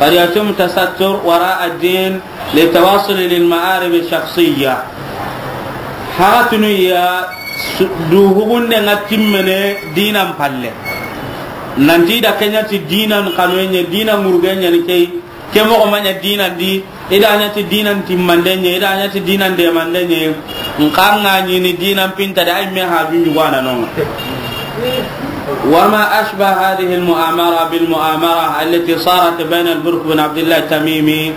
قد يتم التستر وراء الدين للتوصل للمآرب الشخصية. Haxatunu ya Su-, du hugunde nga timmene dinan palle. Nanti i da ke ɲa ti dinan xanoye ɲa, dinan ŋuruge ɲa ni ke yi. Ke moxo ma ɲa dinan di, i da ɲa ti dinan timmande ɲa, i da ɲa ti dinan demande ɲa. Nxa nga ɲi ni dinan pinta de, ay me ha junju wana nonga. وما أشبه هذه المؤامرة بالمؤامرة التي صارت بين البرك بن عبد الله التميمي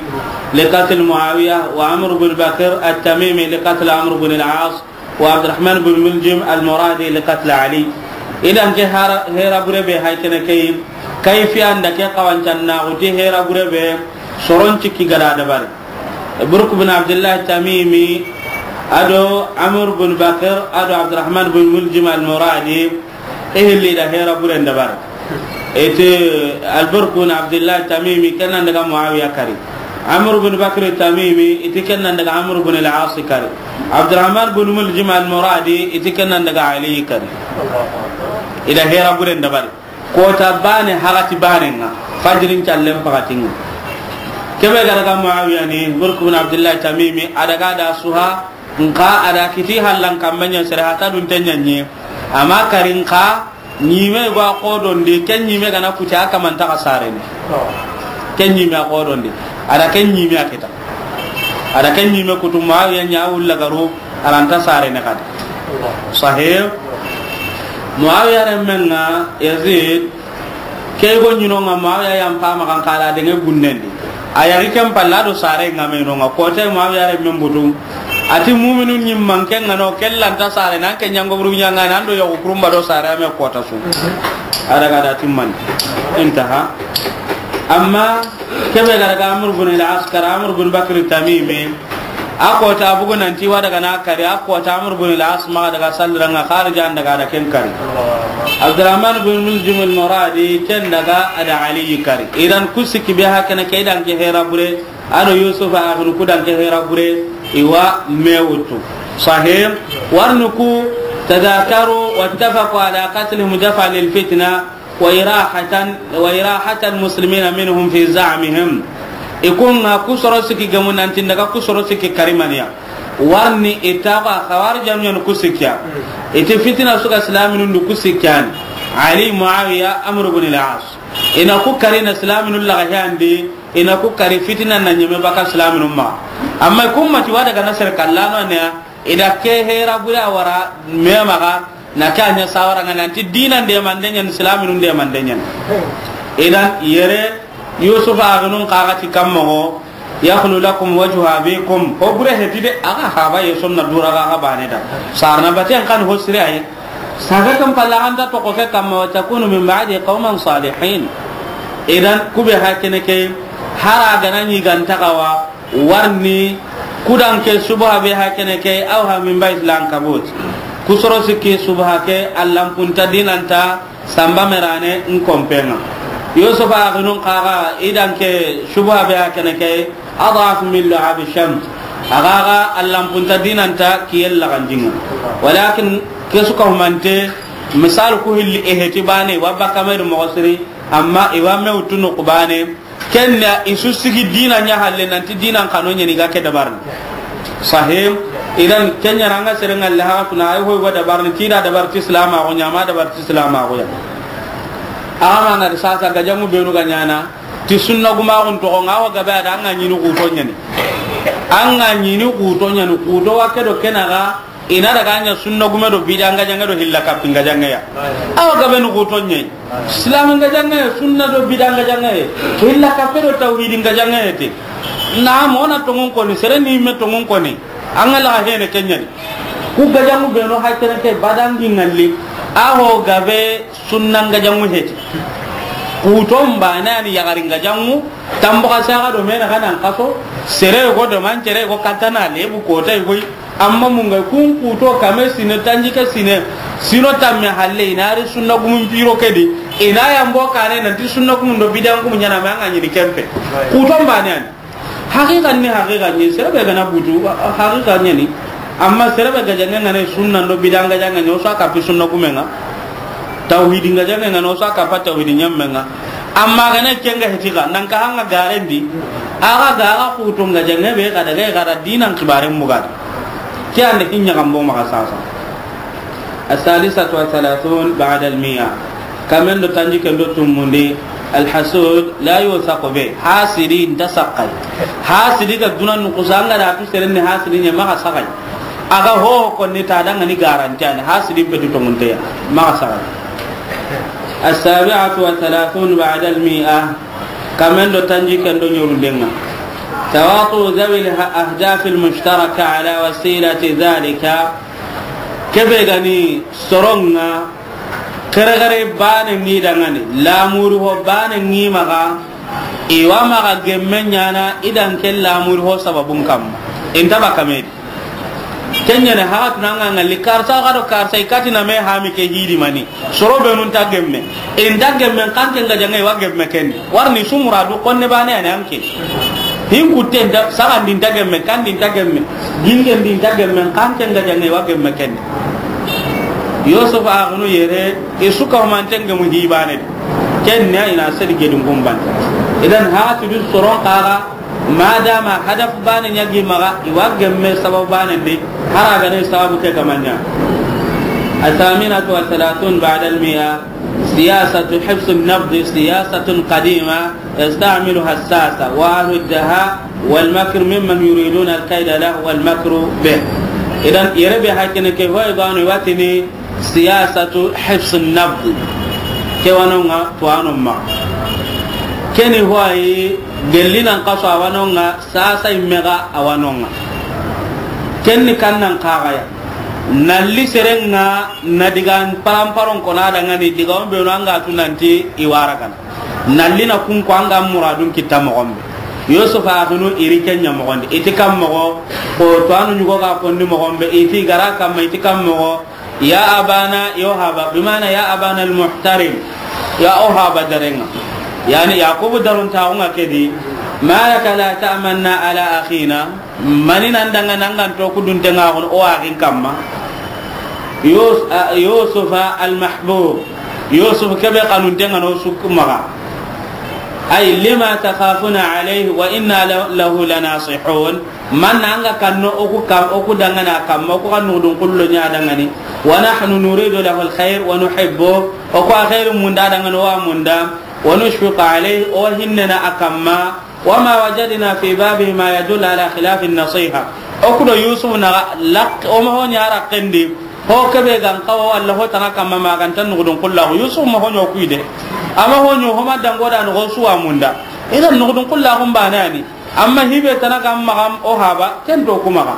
لقتل معاوية وعمرو بن بكر التميمي لقتل عمرو بن العاص وعبدالرحمن بن ملجم المرادي لقتل علي. Idan ke hara-, hera bure be hay kene ke yi, kayfiyan da ke xawancan na xuti hera bure be soron cikki ga da dabari. Burk bin Abdullah Tamimi, ado Amr bin Bakr, ado Abdurrahman bin Muljim al-Muradi, i hilli da hera buren dabari. Iti Al-Burk bin Abdullah Tamimi, ken nan daga Muawiya kari. Amr bin Bakr Tamimi, iti ken nan daga Amr bin al-As kari. Abdurrahman bin Muljim al-Muradi, iti ken nan daga Ali kari. I da hera buren dabari. Kota bane, hagati bane nga. Fajirin callen pagatin nga. Kebe ga daga Muawiya ni, Burk bin Abdullah Tamimi, a daga da suha, nka a da kiti hallan kammanya sere hata dun tenyanyi. Ama karin ka, nyime gwa kodondi, ken nyime gana kuta kamanta ka sareni. Ken nyime a kodondi. A da ken nyime a kita. A da ken nyime kutu Muawiya ɲa wulla garu, a ra nta sarene kadi. Sahih. Muawiya renmen nga Yazid, ke go ɲi no nga Muawiya yan pama kan kala de nge gunnen di. A yari ken palla do sare nga me no nga kote Muawiya renmen butu. Ati mu'minun ɲi manke nga no kella nta sare nan ke ɲango buru ɲanga nan do yogo kurumba do sare ame kota su. A daga da timman. Intaha. Amma kebe ga daga Amr bin al-As kari, Amr bin Bakr Tamimi, a kota bugu nanti wa daga na kari, a kota Amr bin al-As ma daga salliranga Kharija daga da ken kari. Abdurrahman bin Muljim al-Muradi ken daga a da Ali kari. Idan kusiki be hakana ke idan ke hera bure, ado Yusuf a akhun kudan ke hera bure, iwa mewutu. Sahih. Warnuku تذاكروا واتفقوا على قتلهم دفعا للفتنة وإراحة، وإراحة المسلمين منهم في زعمهم. I ko nga kusoro siki gamu nanti daga kusoro siki karimaniya. Warni ita ko Khawarij jamiyan kusikiya. Iti fitina suka islaminun du kusikiyan. Ali, Muawiya, Amr bin al-As. Ina ku kari na islaminun laga handi, ina ku kari fitina na nyeme baka islaminun ma. Amma kumma ti wada ga nasar kallano ne, ida ke hera bure a wara me maga, na ke a ɲa sawara nga nanti dinan demande ɲa ni, silaminun demande ɲa ni. Idan yere Yusuf a gunun kaga ti kammo, يخل لكم وجه أبيكم. Ho bure heti de, aga haba ye sonna dura ga ga bane da. Sarna baten kan ho sire ay. Saga kan palla anda to ko fe kammo, وتكونوا من بعده قوما صالحين. Idan kube hakene ke hara gana ni ganta gawa. Warni kudan ke subha be hakene ke أوهى من بيت العنكبوت. Kusoro sikki subha ke allampunta dinanta samba merane nkompenga. Yusuf a gunun kaga idan ke subha be hakene ke أضعف من لهاب الشمس. Aga ga allampunta dinanta kiyel lagandinga. Walakin kesu ka humante misal ku hilli eheti bane wa bakamer mogosiri amma iwa mewtunu kubane. Kenya isu sigi dina ɲa halle nanti dinan kano ɲa ni ga ke dabarni. Sahim. Idan kenya ranga serenga le ha tuna ay hoy wa dabarni ti da dabar ti islam a ko ɲa ma dabar ti islam a ko ya. Ama na da sasa gajamu benu ga ɲana ti sunna guma on to nga wa gabe da anga ɲini ku to ɲani. Anga ɲini ku to ɲani ku to wa ke do kenaga. Ina daga ɲa sunna gume do bida nga jange do hilla kappi nga jange ya. Awa gabe no ko tonye. Islam nga jange, sunna do bida nga jange. Hilla kappe do tawhid nga jange te. Na mo na tongon koni, sere ni me tongon koni. Angala hene kenyani. Ku gajangu be no hakene ke badangi ngalli. Aho gabe sunna nga jangu heti. Kuton bane ani yagari nga jangu. Tambo ka saga do mena kanan kaso. Sere go do man sere go katana lebu kota go. Amma mun ga kun kuto kame sine, tanji ke sine, sino tamme halle, ina ri sunna gumun piro kedi, ina yambo kane nanti sunna gumun do bidan gumun ɲana ma nga ɲini kempe. Kuton bane an. Haqiqa ni, haqiqa ni, serebe gana butu, haqiqa ni. Amma serebe ga jange ngane sunna do bidan ga jange nyo sa kapi sunna gumenga. Tawhidi nga jange nga no sa kapa tawhidi ɲamme nga. Amma gane kenga hetiga nan ka hanga garendi. Aga gara kutu nga jange be kada ga gara dinan kibaren bugada. Ke ande hinya gambo maka sasa. السادسة والثلاثون بعد المائة. Kamen do tanjikke ndo tummundi. الحسود لا يوثق به. Hasidi nta saxay. Hasidi ga duna nukusa, an ga da tu seren ni hasidi ɲa, maxa saxay. A ga ho konni ta, da ŋa ni garanti ya ni, hasidi be du tongunte ya, maxa saxay. السابعة والثلاثون بعد المائة. Kamen do tanjikke ndo ɲorunden ŋa. تواطؤ ذوي الأهداف المشتركة على وسيلة ذلك. Kebe ga ni soron ŋa, xerexere baane ŋi dangani, lamuri ho baane ŋi maxa, i wa maxa gemme ɲaana i dan ke lamuri ho sababun kamma. I nta ba kame di. Ken ɲa ni haxatunu an ga ŋalli karsa xa do karsa, i kati na me hami ke hidi mani. Soro be nu nta gemme. I nta gemme, xa ke n ga jaŋe i wa gemme ken di. Wari ni su muradu xonne baane ya ni an ke. Hin kutte nta, saxandi nta gemme, kandi nta gemme, gingen di nta gemme, xa ke n ga jaŋe i wa gemme ken di. Yusuf axunu yere, i su ka humante ngemu hi baane di. Ken ni a i na sedi gedun gumban. Idan hasidu soron xaxa, madama hadaf baane ɲa gi maxa, i wa gemme sababu baane di, hari a ga ni sababu ke ga ma ɲa. الثامنة والثلاثون بعد المائة. سياسة حفظ النبض سياسة قديمة يستعملها الساسة وأهل الدهاء والمكر ممن يريدون الكيد له والمكر به. Idan, yere be hakkene ke hoy gano watini siyasatu hifz an-nabd. Ke wa no ŋa, to a no ma. Keni hoy gelli nan kaso a wa no ŋa, sasa imme ga a wa no ŋa. Kenni kannan kaxaya. Nalli serenga na digan paramparon kona dangani diga on be no an ga tu nanti i wara gana. Nalli na kun ko an ga muradun kitta moxo be. Yusuf axunu iri ken ɲa moxo ndi. I ti kam moxo, ko to anu ɲugo ga konni moxo be. I ti gara kamma, i ti kam moxo. Ya abana, yo haba, bimana ya abana al-muhtarim. Ya o haba darenga. Yani Yakubu daron ta o ŋa kedi. ما لك لا تأمنا على أخينا. Mani nan danga nan gan to kudunte ŋa xono o axin kamma. Yus-, a, Yusufa al-mahbub. Yusuf kebe xanunte ŋa no sukku maxa. Ay, lima takhafuna alayhi wa inna la-, lahu lanasihun. Man na an ga kanno o ku kam, o ku dangana kamma, o ku xannu dun kullo ɲa dangani. Wa nahnu nuridu lahu al-khayr wa nuhibbu. O ku a khairu munda dangani, o wa munda. Wa nushfiqu alayhi, o hinnena a kamma. وما وجدنا في بابه ما يدل على خلاف النصيحة. O ku do Yusuf na lak-, o ma ho ɲa ra kendi. Ho kebe gan kawa walla ho tana kamma ma gan tan nugudun kullahu. Yusuf ma ho ɲo kuide. Ama ho ɲo ho ma dango da no suwa munda. Idan nugudun kullahu mbanani. Amma hibe tana kam magam o haba, ken to kuma ga.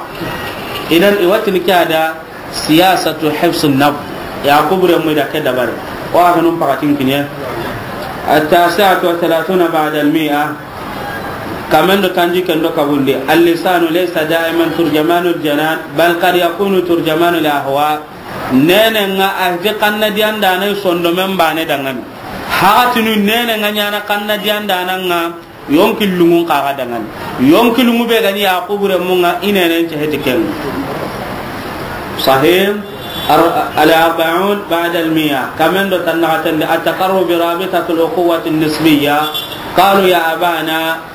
Idan i watini ke ada siyasatu hifz an-nabd. Yakubu re mu da ke dabari. Wa hanun pakatin kinye. التاسعة والثلاثون بعد المائة. Kamen do tanjikke ndo kabundi. اللسان ليس دائما ترجمان الجنان، بل قد يكون ترجمان الأهواء. Nene nga a hiti kanna dianda na sondo men bane dangani. Hakatinu nene nga ɲana kanna dianda na nga. Yonki lungun kaga dangani. Yonki lungu be gani Yakubu re mu nga i nenen ce heti ken. Sahih. Ar-, al-arba'un ba'da al-mi'a. Kamen do tanna tande at-taqarrub bi rabitati al-ukhuwati an-nisbiyya. Qalu ya abana,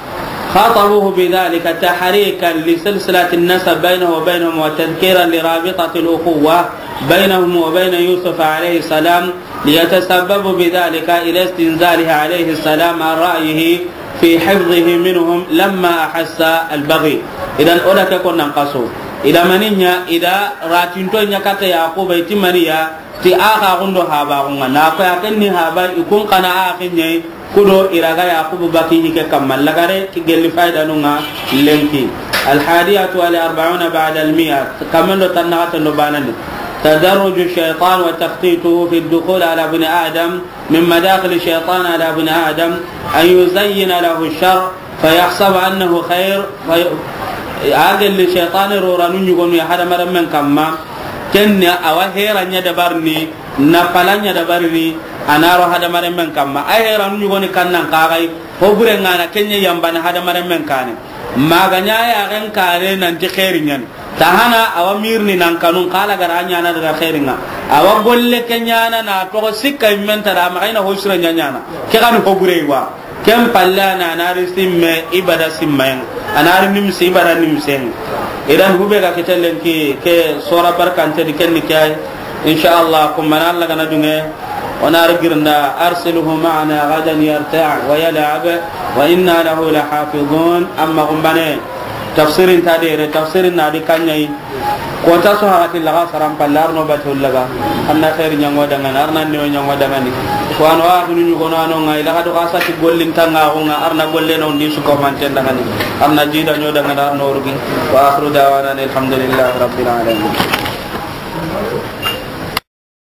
خاطبوه بذلك تحريكا لسلسلة النسب بينه وبينهم وتذكيرا لرابطة الأخوة بينهم وبين يوسف عليه السلام، ليتسببوا بذلك إلى استنزاله عليه السلام عن رأيه في حفظه منهم لما أحس البغي. Idan o da ke konnan kaso. Ida maninya, ida ratinto nya kata Yakuba itimaniya, ti a xa gundo haba gunga. Na ko ya ken ni haba i kun kana a ken ɲai, kudo iraga Yakubu baki ni ke kamma lagare ki gelli fayda nunga lenki. الحادية والأربعون بعد المائة. Kamen do tanna tando banani. تدرج الشيطان وتخطيطه في الدخول على ابن آدم من مداخل الشيطان على ابن آدم أن يزين له الشر فيحسب أنه خير، في-، a gelli shaytani roranu ɲugonu ya hadamaren men kamma, ken ni a wa heran ɲa dabarini, na palan ɲa dabarini, a na ro hadamaren men kamma. A heranu ɲugoni kannan kagai, ho bure ngana ken ɲa yambana hadamaren men kane. Maga ɲa ya gen kare nanti xeeri ɲani. Tahana a wa mirni nan kanun kala gara ɲana daga xeeringa. A wa golle ke ɲana na toxo sikka immen tara ma xayna ho sura ɲa ɲana. Ke xani ho bure wa. Ken palle a na, a na ri simme ibada simmayen. A na ri nimsi ibada nimsen. Idan hube ga kitellen ki ke sora barkante di ken ni kay. Insha Allah, kumbana Alla ga na duŋe, o na ri girnda, أرسله معنا غدا يرتع ويلعب وإنا له لحافظون. Amma kumbane, tafsirin ta dere, tafsirin na di kaɲayi. Ko ta so hakati laga saran palle, arno batu laga. Arna xeeri ɲaŋo daŋani, arna newo ɲaŋo daŋani. Ko ano a hunu ɲugono ano ŋa, i laga do xa sati gollin taŋa xo ŋa, arna golle no ndi su ko manten daŋani. Arna jida ɲo daŋani, arno rugi. وآخر دعوانا أن الحمد لله رب العالمين.